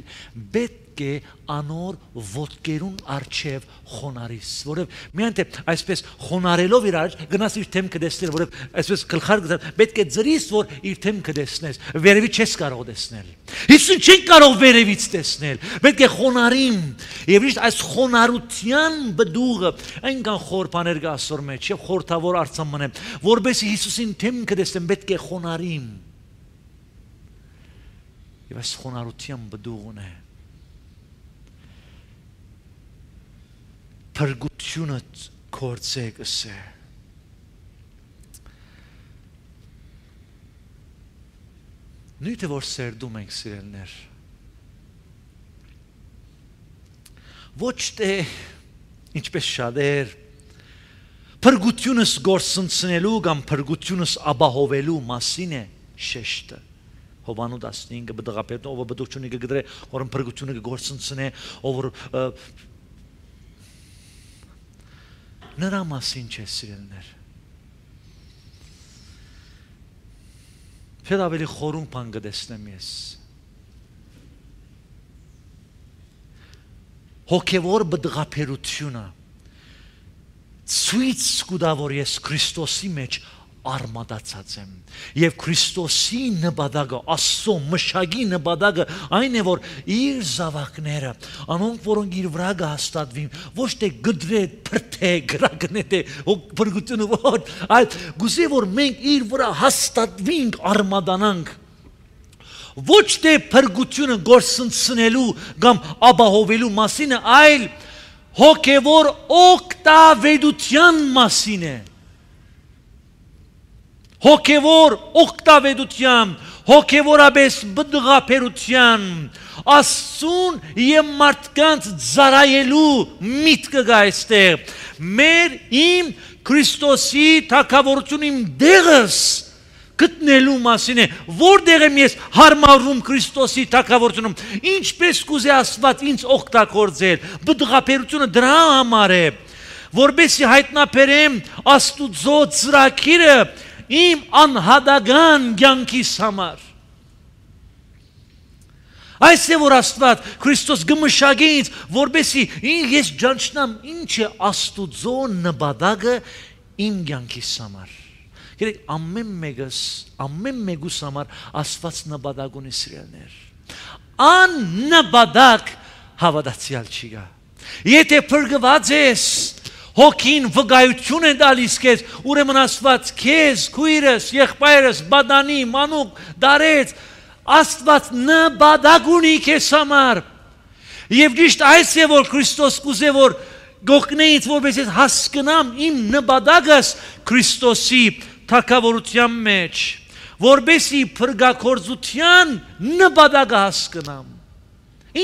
պետք է անոր ոտքերուն արչև խոնարհիս որով միայն թե այսպես խոնարհելով իր արջ գնաս իր դեմքը տեսնել որով այսպես գլխարկը պետք է ծրիս որ իր դեմքը տեսնես վերևից չես կարող տեսնել Հիսուսին չեն կարող վերևից տեսնել պետք է խոնարհին եւ իշտ այս խոնարհության բդուղը այնքան խոր բաներ կա ասոր մեջ եւ խորթավոր արցան մնեմ որբեսի Հիսուսին դեմքը տեսնեմ պետք է խոնարհին եւ այս խոնարհության բդուղն է Փրկությունը կործեկս է Նույնը որ սերդում ենք սիրելներ Ոչ թե ինչպես շատեր Փրկությունս գործընծնելու կամ փրկությունս ապահովելու մասին է շեշտը Հովանու տասնհինգը բդղապետն ով բդուղությունը կգդրե որ փրկությունը գործընծնե ով Նրա մասին չէ սիրելներ Փեդ ավելի խորուն բան կտեսնեմ ես Հոգևոր բդղապերությունը ցույց կտա որ ես Քրիստոսի մեջ արմատացած եմ եւ Քրիստոսի նպատակը Աստծո մշակի նպատակը այն է որ իր զավակները անոնք որոնք իր վրա կհաստատվին ոչ թե գդրե փրթե գրագնե փրկությունը որ այլ գուցե որ մենք իր վրա հաստատվենք արմատանանք ոչ թե փրկությունը գործընծնելու կամ ապահովելու մասին այլ հոգևոր օգտավետության մասին է Հոգևոր օգտավետության, հոգևորապես բդղապերության, Աստծուն և մարդկանց ծառայելու միտքը կա այստեղ։ Մեր իմ Քրիստոսի թագավորություն իմ դեղս գտնելու մասին է, որտեղ եմ ես հարմարվում Քրիստոսի թագավորությունում, ինչպես կուզե Աստված ինձ օգտագործել, բդղապերությունը դրա համար է, որպեսզի հայտնաբերեմ Աստուծո ծրագիրը իմ անհատական կյանքիս համար։ Այս է որ Աստված Քրիստոս գմշագի ինձ, որպեսզի ես ճանչնամ ինչ է Աստուծո նպատակը իմ կյանքիս համար։ Գիտեք, ամեն մեկս, ամեն մեկուս համար Աստված նպատակ ունի սիրելներ։ Աննպատակ հավատացյալ չի գա։ Եթե փրկված ես Հոգին վկայություն է տալիս քեզ, ուրեմն Աստված քեզ, քույրս, եղբայրս, բադանի, մանուկ, դարեց, Աստված նպատակ ունի քեզ համար։ Եվ ճիշտ այս է որ Քրիստոս կուզե որ գողքնեից որպես ես հասկնամ իմ նպատակս Քրիստոսի թագավորության մեջ, որպեսզի փրկագործության նպատակը հասկնամ։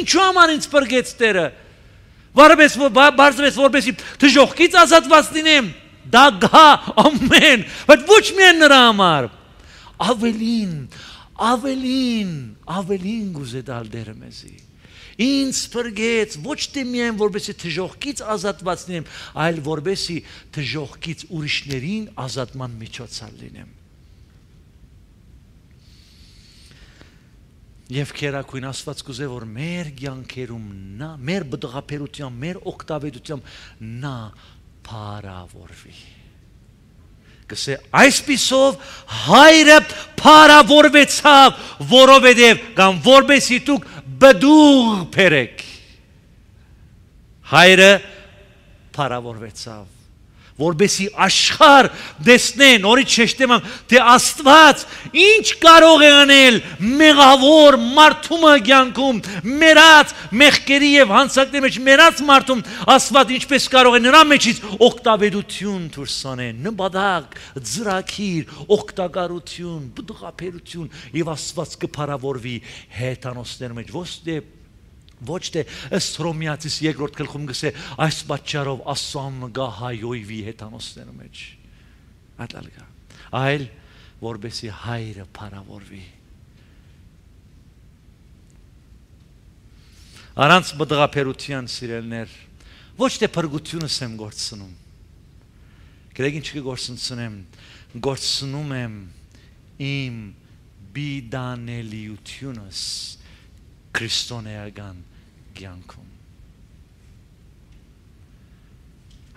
Ինչու համար ինձ փրկեց Տերը։ Բարձրեց որպեսի թժողքից ազատված լինեմ, դա գա ամեն, բայց ոչ միայն նրա համար, ավելին, ավելին, ավելին գուզե տալ Տերը մեզի, ինձ փրկեց ոչ թե միայն որպեսի թժողքից ազատված լինեմ, այլ որպեսի թժողքից ուրիշներին ազատման միջոցալ լինեմ։ Եվ քերակույն Աստված կուզե որ մեր կյանքերում նա մեր բդղապերությամբ, մեր օգտավետությամբ նա փարավորվի։ Կսե այսպիսով հայրը փարավորվեցավ, որովհետև կամ որբեսի դուք բդուղ բերեք։ Հայրը փարավորվեցավ, որբեսի աշխարհ դեսնե, նորից շեշտեմ, թե Աստված ինչ կարող է անել մեղավոր մարդու կյանքում, մեռած մեղքերի եւ հանցանքների մեջ մեռած մարդում, Աստված ինչպես կարող է նրա մեջից օգտավետություն դուրս անել, նպատակ, ծրագիր, օգտակարություն, բդղապերություն եւ Աստված կփարավորվի հեթանոսների մեջ, ոչ թե ըստ Հռոմեացիս երկրորդ գլխում գսե այս պատճառով Աստծուն գա հայոյվի հեթանոսների մեջ, այլ որբեսի հայրը փարավորվի։ Առանց բդղապերության սիրելներ, ոչ թե փրկությունս եմ գործնում, գրեգ ինչ կգործնցնեմ, գործնում եմ իմ բիդանելիությունս քրիստոնեական կյանքում։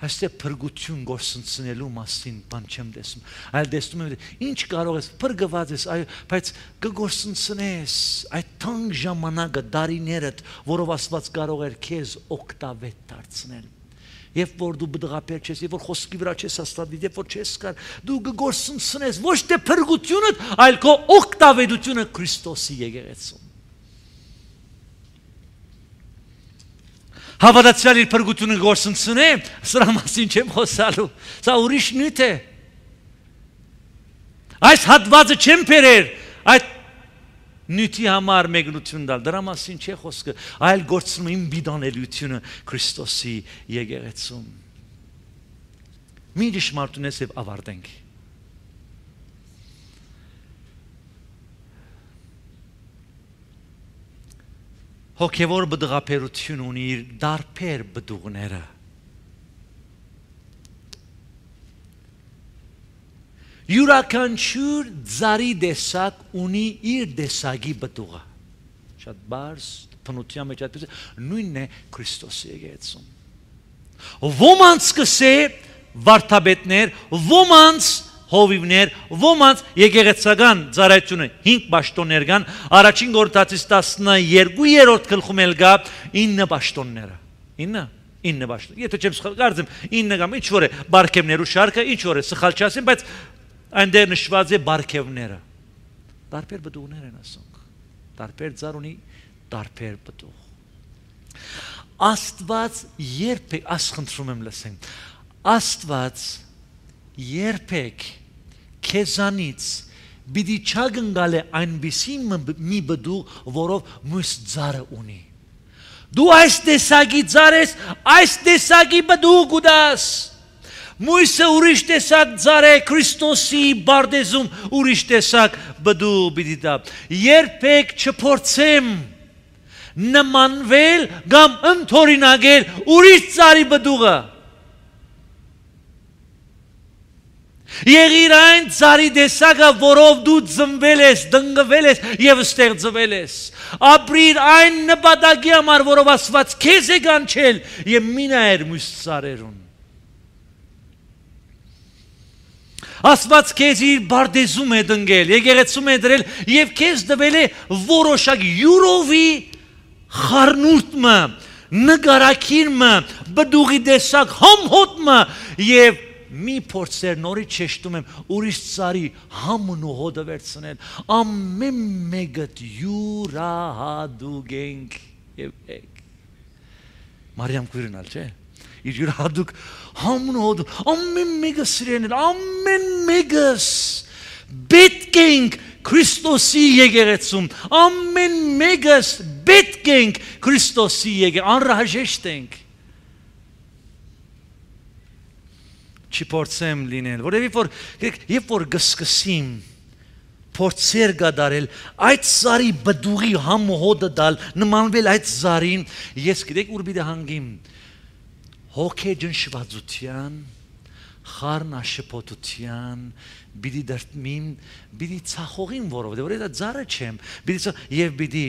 Այստեղ փրկություն գործընծնելու մասին բան չեմ տեսնում, այլ տեսնում եմ ինչ կարող ես փրկված ես, այո, բայց կգործընծնես այդ թանկ ժամանակը, դարիներդ, որով Աստված կարող էր քեզ օգտավետ դարձնել։ Երբ որ դու բդղապեր չես, երբ որ խոսքի վրա չես հաստատվի, երբ որ չես կար, դու կգործընծնես ոչ թե փրկությունդ, այլ քո օգտավետությունը Քրիստոսի եկեղեցում։ Հավատացյալ իր փրկությունը գործընծնե, սրա մասին չեմ խոսալու, սա ուրիշ նյութ է։ Այս հատվածը չեմ բերեր, այդ նյութի համար մեկնություն տալ, դրա մասին չէ խոսքը, այլ գործնում իմ բիդանելիությունը Քրիստոսի եկեղեցում։ Մի ճշմարտությունից եւ ավարտենք։ Հոգևոր բդղապերություն ունի իր դարբեր բդուղները։ Յուրաքանչյուր ծառի տեսակ ունի իր տեսակի բդուղը։ Շատ բարձ բնության մեջ այդպես նույնն է Քրիստոսի եկեղեցում։ Ոմանց կսե վարդապետներ, ոմանց հովիվներ, ոմանց եկեղեցական ծառայությունը հինգ պաշտոններ կան, առաջին Կորինթացիս տասներկուերորդ գլխում էլ կա ինը պաշտոնները։ ինը, ինը պաշտոն։ Եթե չեմ սխալ կարծեմ, ինը կամ ինչ որ է բարգևներու շարքը, ինչ որ է սխալ չասեմ, բայց այնտեղ նշված է բարգևները։ Տարբեր բդուղներ են ասոնք։ Տարբեր ծառ ունի, տարբեր բդուղ։ Աստված երբեք, աս խնդրում եմ լսենք, Աստված երբեք քեզանից բիդի չագնգալ է այնպիսի մի բդուղ, որով մյուս ծառը ունի։ Դու այս տեսակի ծառ ես, այս տեսակի բդուղ ուտաս։ Մույսը ուրիշ տեսակ ծառ է, Քրիստոսի բարձում ուրիշ տեսակ բդուղ պիտի տա։ Երբեք չփորձեմ նմանվել կամ ընդօրինակել ուրիշ ծառի բդուղը։ Եղիր այն ծառի տեսակը, որով դու ծնվել ես, դնգվել ես եւ ստեղծվել ես։ Ապրիր այն նպատակի համար, որով Աստված քեզ է կանչել եւ մի նայր մյուս ծառերուն։ Աստված քեզ իր բարձում է դնգել, եկեղեցում է դրել եւ քեզ տվել է որոշակ յուրովի խառնուրդը, նկարակիրը, բդուղի տեսակ համհոտը եւ մի փորձեր նորից շեշտում եմ ուրիշ ծառի համն ու հոդը վերցնել, ամեն մեկը յուրահատուկ ենք եւ եք։ Մարիամ քույրնալ չէ։ Իր յուրահատուկ համն ու հոդը, ամեն մեկը սիրենել, ամեն մեկս պետք ենք Քրիստոսի եկեղեցում, ամեն մեկս պետք ենք Քրիստոսի եկեղեցում, անհրաժեշտ ենք։ Չփորձեմ լինել, որովհետև որ երբ որ գսկսիմ փորձեր գդարել այդ ծառի բդուղի համոհոդը դալ նմանվել այդ ծառին, ես գիտեք ուր պիտի հանգիմ հոգեջնշվածության, խառնաշփոթության, բիդի դրտմին, բիդի ցախողին որովհետև որ դա ծառը չեմ, բիդի եւ բիդի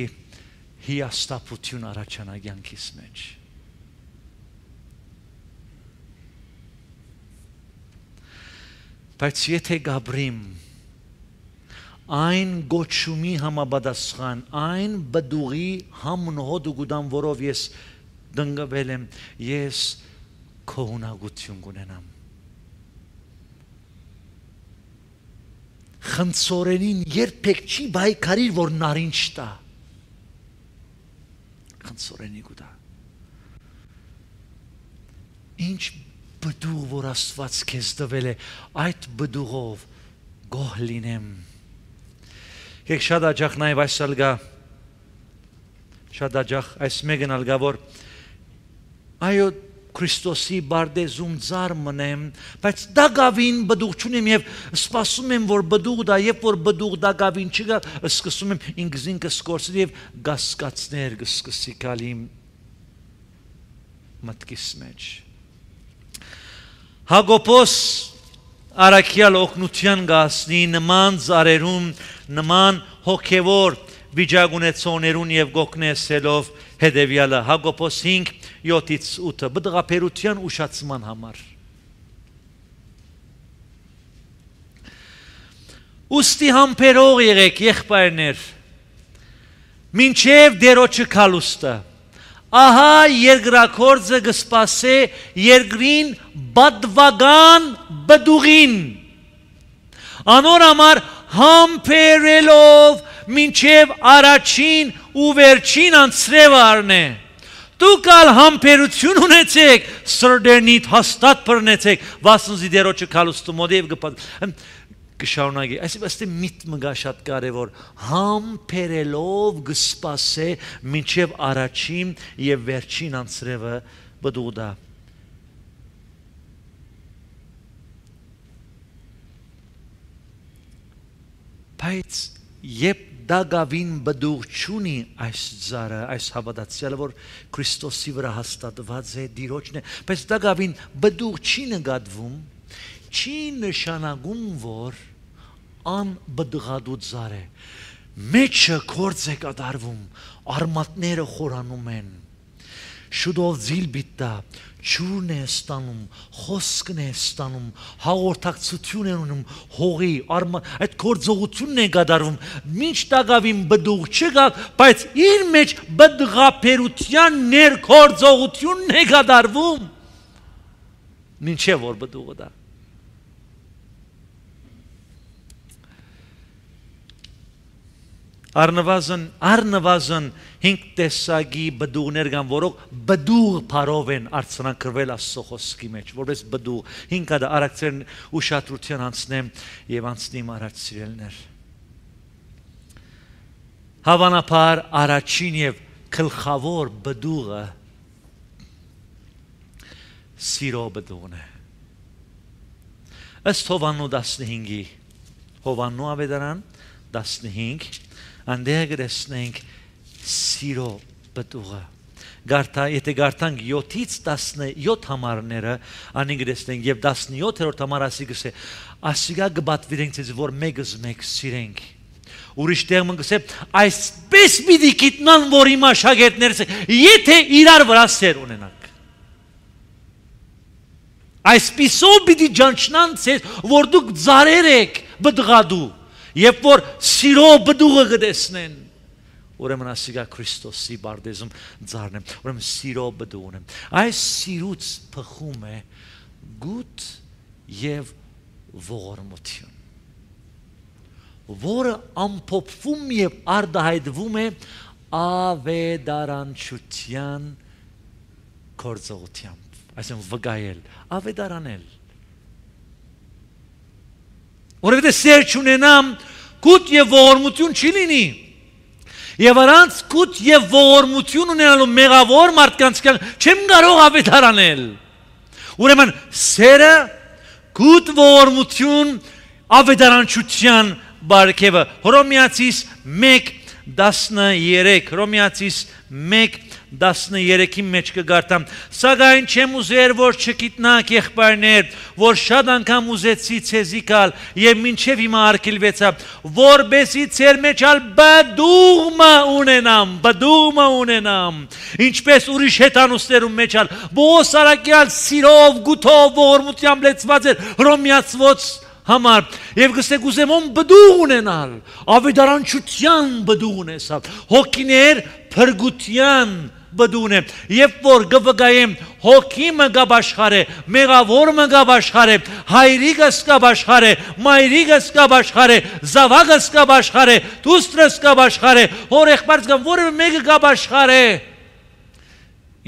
հիաստապություն առաջանա կյանքիս մեջ։ Բայց եթե գաբրիմ այն գոչումի համապատասխան, այն բդուղի համնոհոդ ու գուդամ, որով ես դնգվել եմ, ես քողունակություն կունենամ։ Խնձորենին երբեք չի բայկարիր, որ նարինջ տա։ Խնձորենի գուտա։ Ինչ բդուղ, որ Աստված քեզ տվել է, այդ բդուղով գոհ լինեմ։ Եք շատ աջախ նաև այս ալգա, շատ աջախ այս մեկն ալգա, որ այո Քրիստոսի բարդեզում ծառ մնեմ, բայց դագավին բդուղ չունեմ եւ սպասում եմ, որ բդուղ դա, երբ որ բդուղ դագավին չգա, սկսում եմ ինքս ինքս կորցնել եւ գասկածներ կսկսի գալ իմ մտքիս մեջ։ Հակոբոս Արաքյալ օգնության գասնի նման ծառերում, նման հոգևոր վիճակունեցողներուն եւ գոկնեսելով հետեւյալը Հակոբոս հինգ յոթից ութը բդղապերության ուշացման համար։ Ուստի համբերող եղեք եղբայրներ, մինչև դերոջը քալուստը, ահա երկրակորձը կսպասե երկրին բադվական բդուղին, անոր համար համբերելով մինչև առաջին ու վերջին անցրև առնե։ Դուք ալ համբերություն ունեցեք, սրդերնիդ հաստատ բռնեցեք, վասնզի դերոջը քալուստու մոդև կշարունակի։ Այսինքն միտքը գա շատ կարևոր, համբերելով կսպասե մինչև առաջին եւ վերջին անցրևը բդուղը։ Բայց երբ դագավին բդուղ չունի այս ծառը, այս հավատացյալը, որ Քրիստոսի վրա հաստատված է, դիրոջն է, բայց դագավին բդուղ չի նկատվում, չի նշանակում, որ անբդղադու ծառ է։ Մեջը գործ է կատարվում, արմատները խորանում են, շուտով ձիլ բիտա, ջուրն է ստանում, խոսքն է ստանում, հաղորդակցություն է ունում, հողի, այդ գործողությունն է կատարվում, մինչ դագավին բդուղ չկա, բայց իր մեջ բդղապերության ներգործողությունն է կատարվում, մինչև որ բդուղը դա։ Առնվազն, առնվազն հինգ տեսակի բդուղներ կան, որոնք բդուղ փարով են արձանագրվել Աստծո խոսքի մեջ, որպես բդուղ։ Հինգ հատ արակցերն ուշադրության անցնեմ եւ անցնիմ առաջ սիրելներ։ Հավանաբար առաջին եւ գլխավոր բդուղը սիրո բդուղն է։ Ըստ Հովաննու տասնհինգի, Հովաննու ավետարան տասնհինգ, անդեղ գրեցնենք սիրո բդուղը։ Գարտա, եթե գարտանք յոթից տասնյոթ համարները, անի գրեցնենք եւ տասնյոթերորդ համար ասի գսե, ասիգա գբատվիրենք ցեզ որ մեկս մեկ սիրենք։ Ուրիշ տեղ մն գսե, այսպես պիտի գիտնան, որ իմ աշակերտներս, եթե իրար վրա սեր ունենանք։ Այսպիսով պիտի ջանչնան ցեզ, որ դուք ծառեր եք բդղադու, երբ որ սիրո բդուղը կտեսնեն, ուրեմն ասիգա Քրիստոսի բարդեզում ծառն եմ, ուրեմն սիրո բդուղն եմ։ Այս սիրուց փխում է գութ եւ ողորմություն, որը ամփոփվում եւ արտահայտվում է ավետարանչության գործողությամբ, այսինքն վկայել, ավետարանել։ Որովհետև սեր չունենամ, գութ եւ ողորմություն չի լինի։ Եվ առանց գութ եւ ողորմություն ունենալու մեղավոր մարդկանց չեմ կարող ավետարանել։ Ուրեմն սերը, գութ ողորմություն, ավետարանչության բարգեւը։ Հռոմեացիս մեկ տասներեք, Հռոմեացիս մեկ տասներեքի մեջ կգարտամ սակայն չեմ ուզեր որ չգիտնաք եղբայրներ որ շատ անգամ ուզեցի ցեզի գալ եւ մինչեւ հիմա արգելվեցա որբեսի ցեր մեջ ալ բդուղմա ունենամ բդուղմա ունենամ ինչպես ուրիշ հետանուստերում մեջ ալ բոս արակյալ սիրով գութով ողորմությամբ լեցված էր հռոմեացված համար եւ գսեք ուզեմ ում բդուղ ունենալ ավետարանչության բդուղ ունեսավ հոգիներ փրկության բդուղն է եւ որ գվգայեմ հոգիմը գաբաշխարե մեղավորը գաբաշխարե հայրիկս գաբաշխարե մայրիկս գաբաշխարե զավակս գաբաշխարե դուստրս գաբաշխարե հորեղբարս գամ որը մեկը գաբաշխարե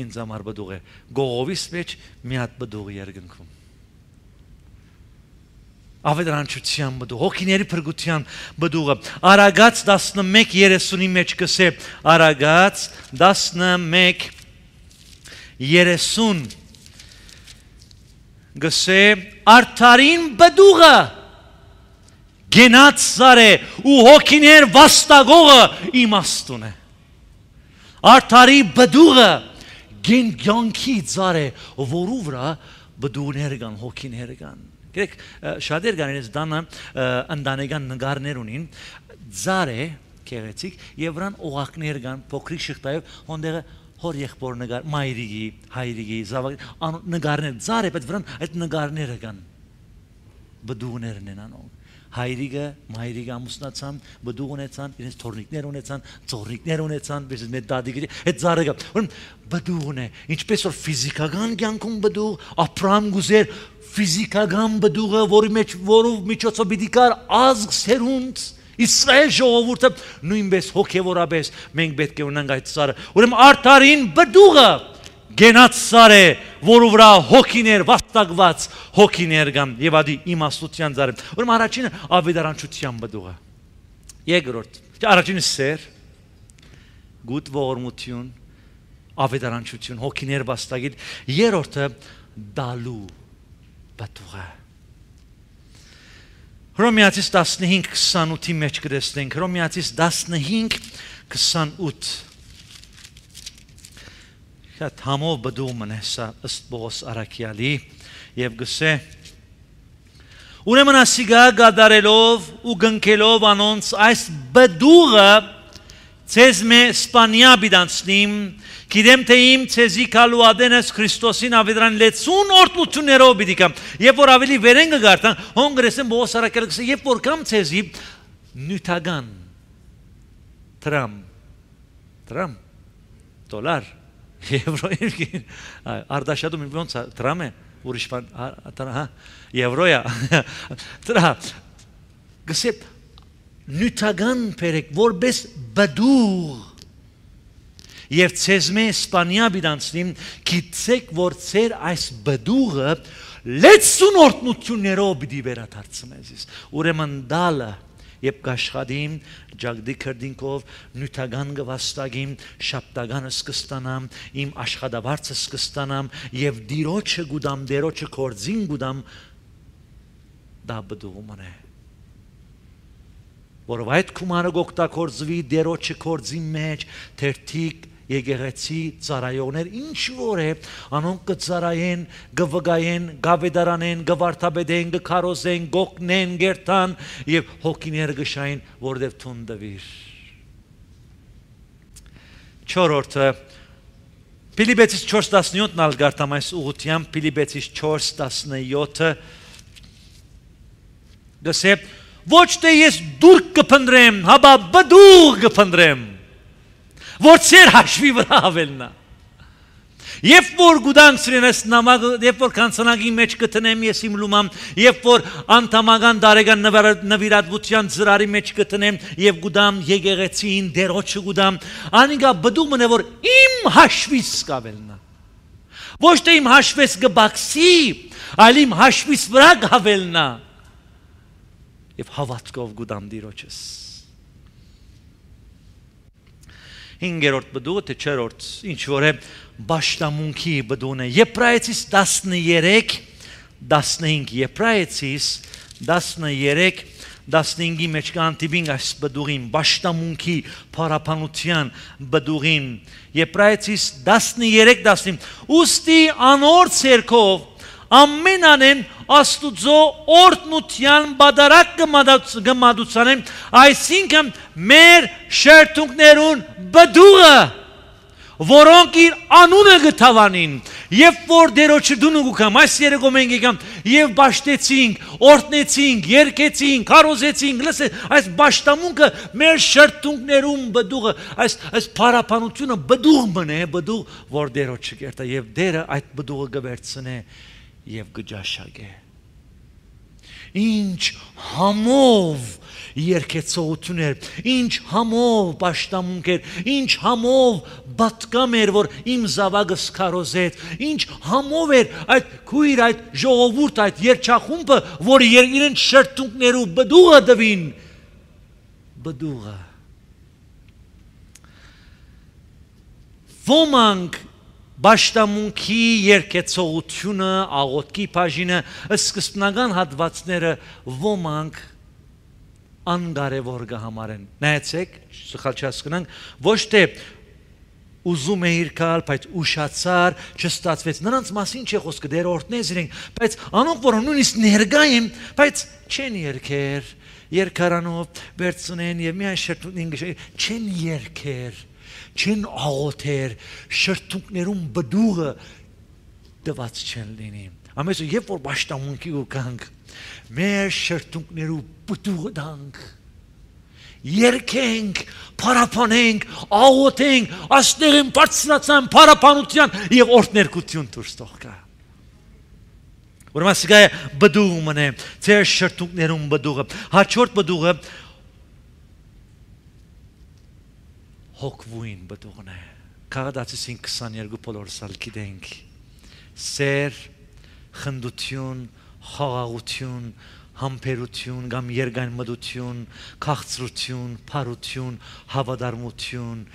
ինձ համար բդուղ է գողովիս մեջ մի հատ բդուղ երկնքում ավետարանչության բդուղ հոգիների փրկության բդուղը Արագած տասնմեկ երեսունի մեջ կսե Արագած տասնմեկ երեսուն գսե արդարին բդուղը գենաց զարե ու հոգիներ վաստագողը իմաստուն է արդարի բդուղը գենգյանքի զարե որու վրա բդուղներ կան հոգիներ կան Գրեք շատեր գանից դանը ընդանեկան նգարներ ունին ծարե քեղեցիկ եւ վրան օղակներ կան փոքրիկ շղթայով հոնդերը հոր եղբոր նգար մայրիկի հայրիկի զավակ նգարներ ծարե բայց վրան այդ նգարները կան բդուղներն են անոն հայրիկը մայրիկը ամուսնացան բդուղ ունեցան իրենց թորնիկներ ունեցան ծորնիկներ ունեցան բես մեծ դադիկի այդ ծարը կա ուրեմն բդուղն է ինչպես որ ֆիզիկական կյանքում բդուղ ապրամ գուզեր ֆիզիկական բդուղը որի մեջ որով միջոցով պիտի կար ազգ սերունդ Իսրայել ժողովուրդը նույնպես հոգևորապես մենք պետք է ունենանք այդ սարը ուրեմն արդարին բդուղը գենաց սար է որու վրա հոգիներ վաստակված հոգիներ կան եւ ադի իմաստության ծառը ուրեմն առաջինը ավետարանչության բդուղը երկրորդ առաջինը սեր գուտ ողորմություն ավետարանչություն հոգիներ վաստակիտ երրորդը դալու բդուղը Հռոմեացիս տասնհինգ քսանութի մեջ կտեսնենք Հռոմեացիս տասնհինգ քսանութ Շատ համով բդուղ մնե սա ըստ Պողոս առաքյալի եւ գսե Ուրեմն ասիգա գադարելով ու գնքելով անոնց այս բդուղը ցեզ մե սպանիա բիդանցնիմ Գիտեմ թե իմ ցեզի կալու ադենս Քրիստոսին ավետարան լեցուն օրտնություններով պիտի կամ երբ որ ավելի վերեն կգարտան հոնգրեսեն Պողոս առաքյալը գսե երբ որ կամ ցեզի նյութական տրամ տրամ դոլար եվրո արդաշատում ոնց է տրամ է ուրիշ բան հա եվրոյա դրա գսե նյութական պերեք որպես բդուղ Եվ ցեզ մե սպանիա բիդանցնիմ գիտեք որ ցեր այս բդուղը լեցուն օրտնություններով պիտի վերադարձնես ուրեմն դալը Եվ կաշխատիմ ջագդի քրդինքով նյութական գվաստագիմ շապտագանը սկստանամ իմ աշխատավարձը սկստանամ եւ դիրոջը գուդամ դերոջը կորձին գուդամ դա բդուղում է Որով այդ կումարը գոկտակորձվի դերոջը կորձին մեջ թերթիկ Եկեղեցի ծառայողներ ինչ որ է անոնք կծառայեն գվգայեն գավեդարանեն գվարդապետեն գքարոզեն գոկնեն գերտան եւ հոգիներ գշային որտեվ թունդվիր Չորրորդը Փիլիպպեցիս չորս տասնյոթն ալ գարտամ այս ուղղությամբ Փիլիպպեցիս չորս տասնյոթը գսե ոչ թե ես դուր կփնտրեմ հաբա բդուղ կփնտրեմ որ ցեր հաշվի վրա ավելնա Երբ որ գուդանք սրենես նամակը, երբ որ կանցանակի մեջ կտնեմ ես իմ լումամ, երբ որ անդամական դարեգան նվիրատվության ծրարի մեջ կտնեմ եւ գուդամ եկեղեցին դերոջը գուդամ, անիկա բդուղն է որ իմ հաշվից կավելնա։ Ոչ թե իմ հաշվես կբացի, այլ իմ հաշվից վրա կավելնա։ Եվ հավատքով գուդամ դիրոջս։ Հինգերորդ բդուղը թե չորրորդ ինչ որ է Բաշտամունքի բդուղն է Եբրայեցիս տասներեք տասնհինգ Եբրայեցիս տասներեք տասնհինգի մեջ կանտիբին այս բդուղին, բաշտամունքի փարապանության բդուղին, Եբրայեցիս տասներեք տասնինը, ուստի անոր ցերքով ամեն անեն Աստուծո օրտնության բادرակ գմադուցանեն, այսինքն մեր շերտունքներուն բդուղը, որոնք իր անունը գտավանին, եւ որ դերոջը դուն ուգամ, այս երեկո մենք եկամ եւ բաշտեցինք, օրտնեցինք, երկեցինք, քարոզեցինք, լսե, այս բաշտամունքը մեր շերտունքներուն բդուղը, այս այս փարապանությունը բդուղ մնե, բդուղ, որ դերոջը կերտա եւ դերը այդ բդուղը գվերցնե եւ գջաշագե։ Ինչ համով երկեցողություններ, ինչ համով պաշտամունքեր, ինչ համով բատկամ էր, որ իմ զավակս քարոզեց, ինչ համով էր այդ քույր, այդ ժողովուրդ, այդ երջախումբը, որ իրեն շերտունքներու բդուղը դվին, բդուղը։ Ոմանք Բաշտամունքի երկեցողությունը, աղոտքի բաժինը, սկզբնական հատվածները ոմանք անկարևոր կհամարեն։ Նայեցեք, սխալ չհասկանանք, ոչ թե ուզում է իրքալ, բայց ուշացար, չստացվեց։ Նրանց մասին չէ խոսքը, դեր օրհնես իրենք, բայց անոնք որ նույնիսկ ներկա են, բայց չեն երկեր, երկարանով վերցնեն եւ միայն շերտունին չեն երկեր, չեն աղոթեր, շրթունքներում բդուղը դված չեն լինի։ Ամենը երբ որ պաշտամունքի ուկանք, մեր շրթունքներու բդուղը դանք, երկենք, փարապանենք, աղոթենք, աստեղին բարձրացան փարապանության եւ օրհներկություն դուրս թողա։ Ուրեմն սա բդուղն է, ձեր շրթունքներում բդուղը, հաջորդ բդուղը հոգվույն բդուղն է։ Քաղաքացին քսաներկու բոլորսալ գիտենք։ Սեր, խնդություն, խաղաղություն, համբերություն, կամ երգայնմտություն, քաղցրություն, փարություն, հավատարմություն,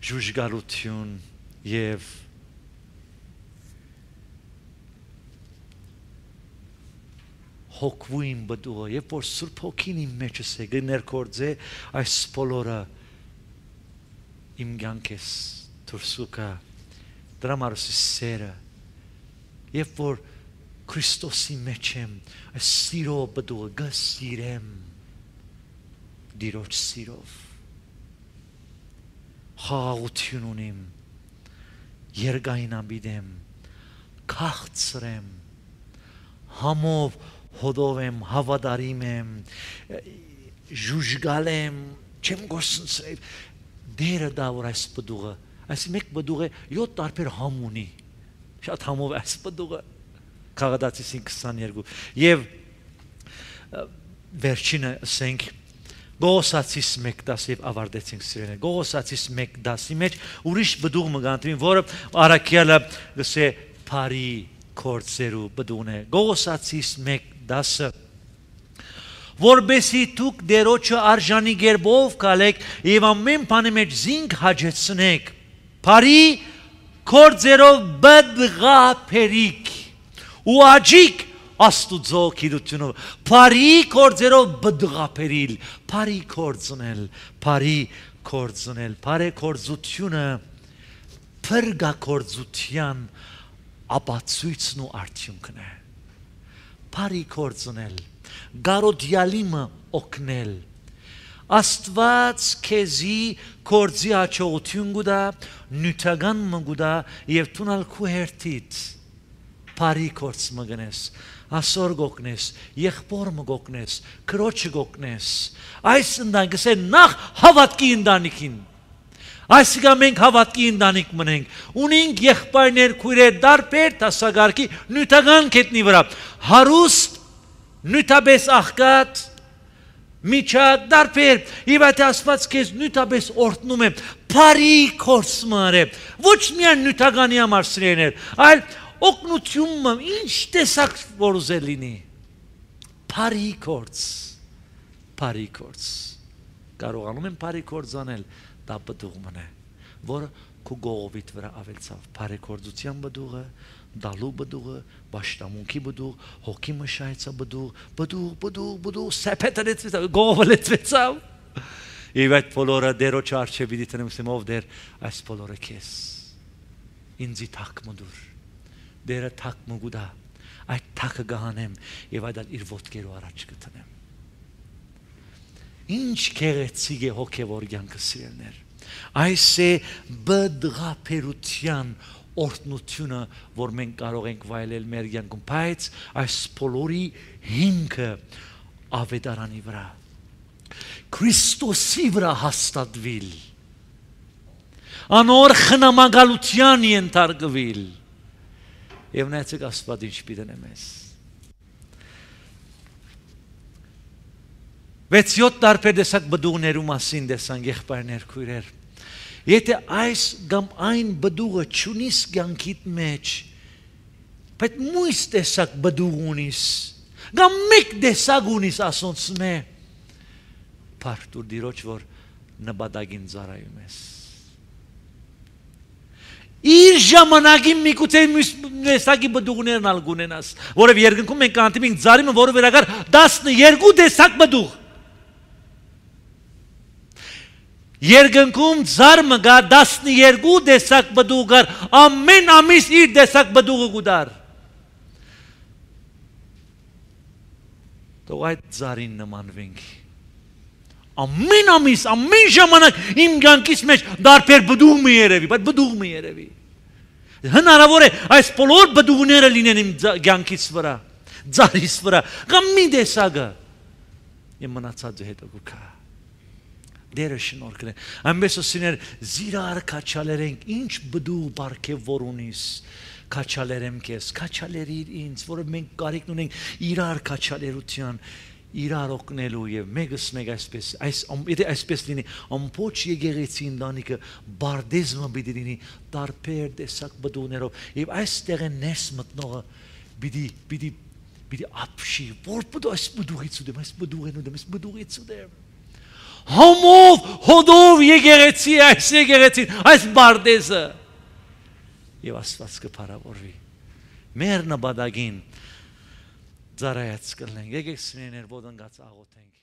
ժուժգալություն եւ հոգվույն բդուղը, երբ որ Սուրբ Հոգին իմ մեջս է գներկործե այս բոլորը իմ կյանքես դուրսուկա դրա մարսի սերը երբ որ Քրիստոսի մեջ եմ այս սիրո բդուղը գսիրեմ դիրոջ սիրով խաղաղություն ունիմ երգայնաբիդեմ քաղցրեմ համով հոդով եմ հավատարիմ եմ ժուժգալ եմ չեմ գործընծրել դերը դա որ այս բդուղը, այս մեկ բդուղը յոթ տարբեր համ ունի, շատ համով այս բդուղը, Քաղաքացին քսաներկու, եւ վերջինը ասենք, Գողոսացիս մեկ դաս եւ ավարտեցինք սիրելիներ, Գողոսացիս մեկ դասի մեջ ուրիշ բդուղ մը գանտվին, որը Արաքյալը գսե բարի կորձերու բդուղն է, Գողոսացիս մեկ դասը որբեսի դուք դերոջը արժանի գերբով կալեք եւ ամեն բանի մեջ զինք հաջեցնեք բարի կորձերով բդղափերիկ ու աջիկ Աստուծո գիտությունով բարի կորձերով բդղափերիլ բարի կորձնել բարի կորձնել բարի կորձությունը փրկակորձության ապացույցն ու արդյունքն է բարի կորձնել Գարոդյալիմը օգնել Աստված քեզի կորձի հաջողություն գուտա նյութական մգուտա եւ տունալ քու հերթից բարի կորձ մգնես ասոր գոկնես եղբոր մգոկնես քրոջը գոկնես այս ընդանքս է նախ հավատքի ընդանիքին այսինքն մենք հավատքի ընդանիք մնենք ունենք եղբայրներ քույրեր դարբեր տասագարկի նյութական կետնի վրա հարուստ նյութաբես աղկատ միջակ դարբեր եւ այդ Աստված քեզ նյութաբես օրհնում է բարի կորձ մարե ոչ միայն նյութականի համար սիրելիներ այլ օգնությունը ինչ տեսակ որ ուզել լինի բարի կորձ բարի կորձ կարողանում են բարի կորձ անել դա բդուղն է որը քու գողովիդ վրա ավելցավ բարի կորձության բդուղը դալու բդուղը, բաշտամունքի բդուղ, հոգի մշայցա բդուղ, բդուղ, բդուղ, բդուղ, սեպետը լեցվեցավ, գողը լեցվեցավ։ Եվ այդ բոլորը դերոջ արջե պիտի տնեմ ասեմ ով դեր այս բոլորը քեզ ինձի թակ մդուր դերը թակ մգուդա այդ թակը գահանեմ եւ այդ իր ոտքերու առաջ կտնեմ ինչ քեղեցիկ է հոգեվոր կյանքը սիրելներ այս է բդղապերության օրտնությունը որ մենք կարող ենք վայելել մեր կյանքում բայց այս բոլորի հիմքը ավետարանի վրա Քրիստոսի վրա հաստատվել անոր խնամակալության ենթարկվել եւ նայեցեք Աստված ինչ պիտի մեզ վեց-յոթ տարբեր տեսակ բդուղներու մասին տեսանք եղբայրներ քույրեր եթե այս կամ այն բդուղը չունիս կյանքիդ մեջ բայց մույս տեսակ բդուղ ունիս կամ մեկ տեսակ ունիս ասոնց մե Պարտուր դիրոջ որ նպատակին ծառայում ես իր ժամանակին միգուցե տեսակի բդուղներն ալ գունենաս որով երկնքում մենք կանտիմենք ծառայումը որը վերագար տասնյոթ տեսակ բդուղ երկնքում ծառայումը գա տասնյոթ տեսակ բդուղ գար ամեն ամիս իր տեսակ բդուղը գուդար Թող այդ ծառին նմանվենք Ամեն ամիս, ամեն ժամանակ իմ կյանքիս մեջ դարբեր բդուղ մի երևի, բայց բդուղ մի երևի։ Հնարավոր է այս բոլոր բդուղները լինեն իմ կյանքիս վրա, ծառիս վրա, կամ մի տեսակը։ Եմ մնացածը հետո գուքա։ Դերը շնորհքն է։ Այնպես ասիներ զիրար քաչալերենք ինչ բդուղ բարգև որ ունիս քաչալերեմ քեզ, քաչալերիր ինձ, որը մենք կարիք ունենք իրար քաչալերության իրար օգնելու եւ մեգս մեկ այսպես այս եթե այսպես լինի ամբողջ եկեղեցի ընտանիքը բարդեզմը պիտի լինի տարբեր տեսակ բդուղներով եւ այստեղ է ներս մտնողը պիտի պիտի պիտի ապշի որ բդու այս բդուղից ուդեմ այս բդուղին ուդեմ այս բդուղից ուդեմ համով հոդով եկեղեցի այս եկեղեցին այս բարդեզը եւ Աստված կփարավորվի մեր նպատակին Ծառայած կլնենք, եկեք սիրելիներ, ոդնգած աղոթենք